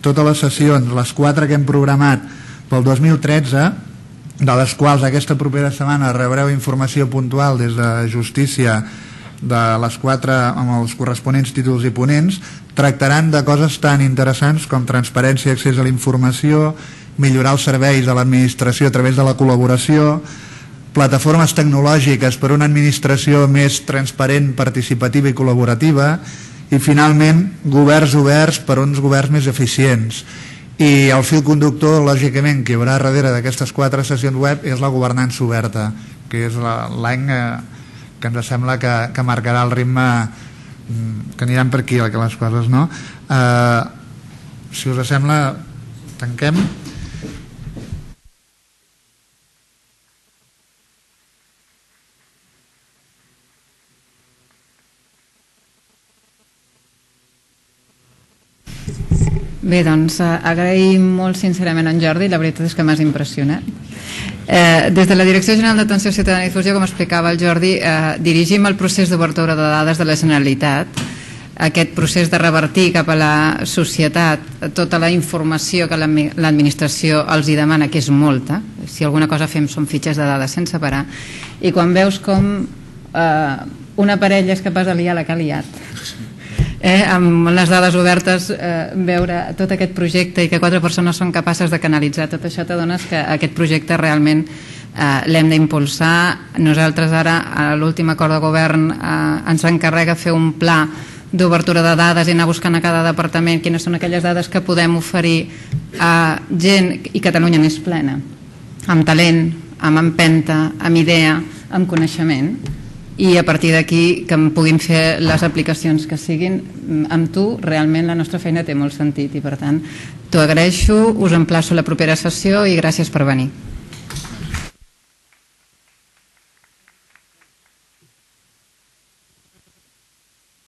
C: totes les sessions, les 4 que hem programat pel 2013, de les quals aquesta propera setmana rebreu informació puntual des de Justícia de les 4 amb els corresponents títols i ponents, tractaran de coses tan interessants com transparència i accés a la informació, millorar els serveis de l'administració a través de la col·laboració, plataformes tecnològiques per una administració més transparent, participativa i col·laborativa, i finalment governs oberts per uns governs més eficients. I el fil conductor, lògicament, que hi haurà darrere d'aquestes 4 sessions web és la governança oberta, que és l'any que ens sembla que marcarà el ritme, que aniran per aquí les coses, no? Si us sembla, tanquem.
L: Bé, doncs agraïm molt sincerament en Jordi, la veritat és que m'has impressionat. Des de la Direcció General d'Atenció Ciutadana i Difusió, com explicava el Jordi, dirigim el procés d'obertura de dades de la Generalitat, aquest procés de revertir cap a la societat tota la informació que l'administració els hi demana, que és molta. Si alguna cosa fem són fitxes de dades sense parar, i quan veus com una parella és capaç de liar la que ha liat, amb les dades obertes, veure tot aquest projecte i que 4 persones són capaces de canalitzar tot això, t'adones que aquest projecte realment l'hem d'impulsar. Nosaltres ara, a l'últim acord de govern, ens encarrega fer un pla d'obertura de dades i anar buscant a cada departament quines són aquelles dades que podem oferir a gent, i Catalunya n'és plena, amb talent, amb empenta, amb idea, amb coneixement, i a partir d'aquí que en puguin fer les aplicacions que siguin. Amb tu realment la nostra feina té molt sentit i per tant t'ho agraeixo, us emplaço a la propera sessió i gràcies per venir.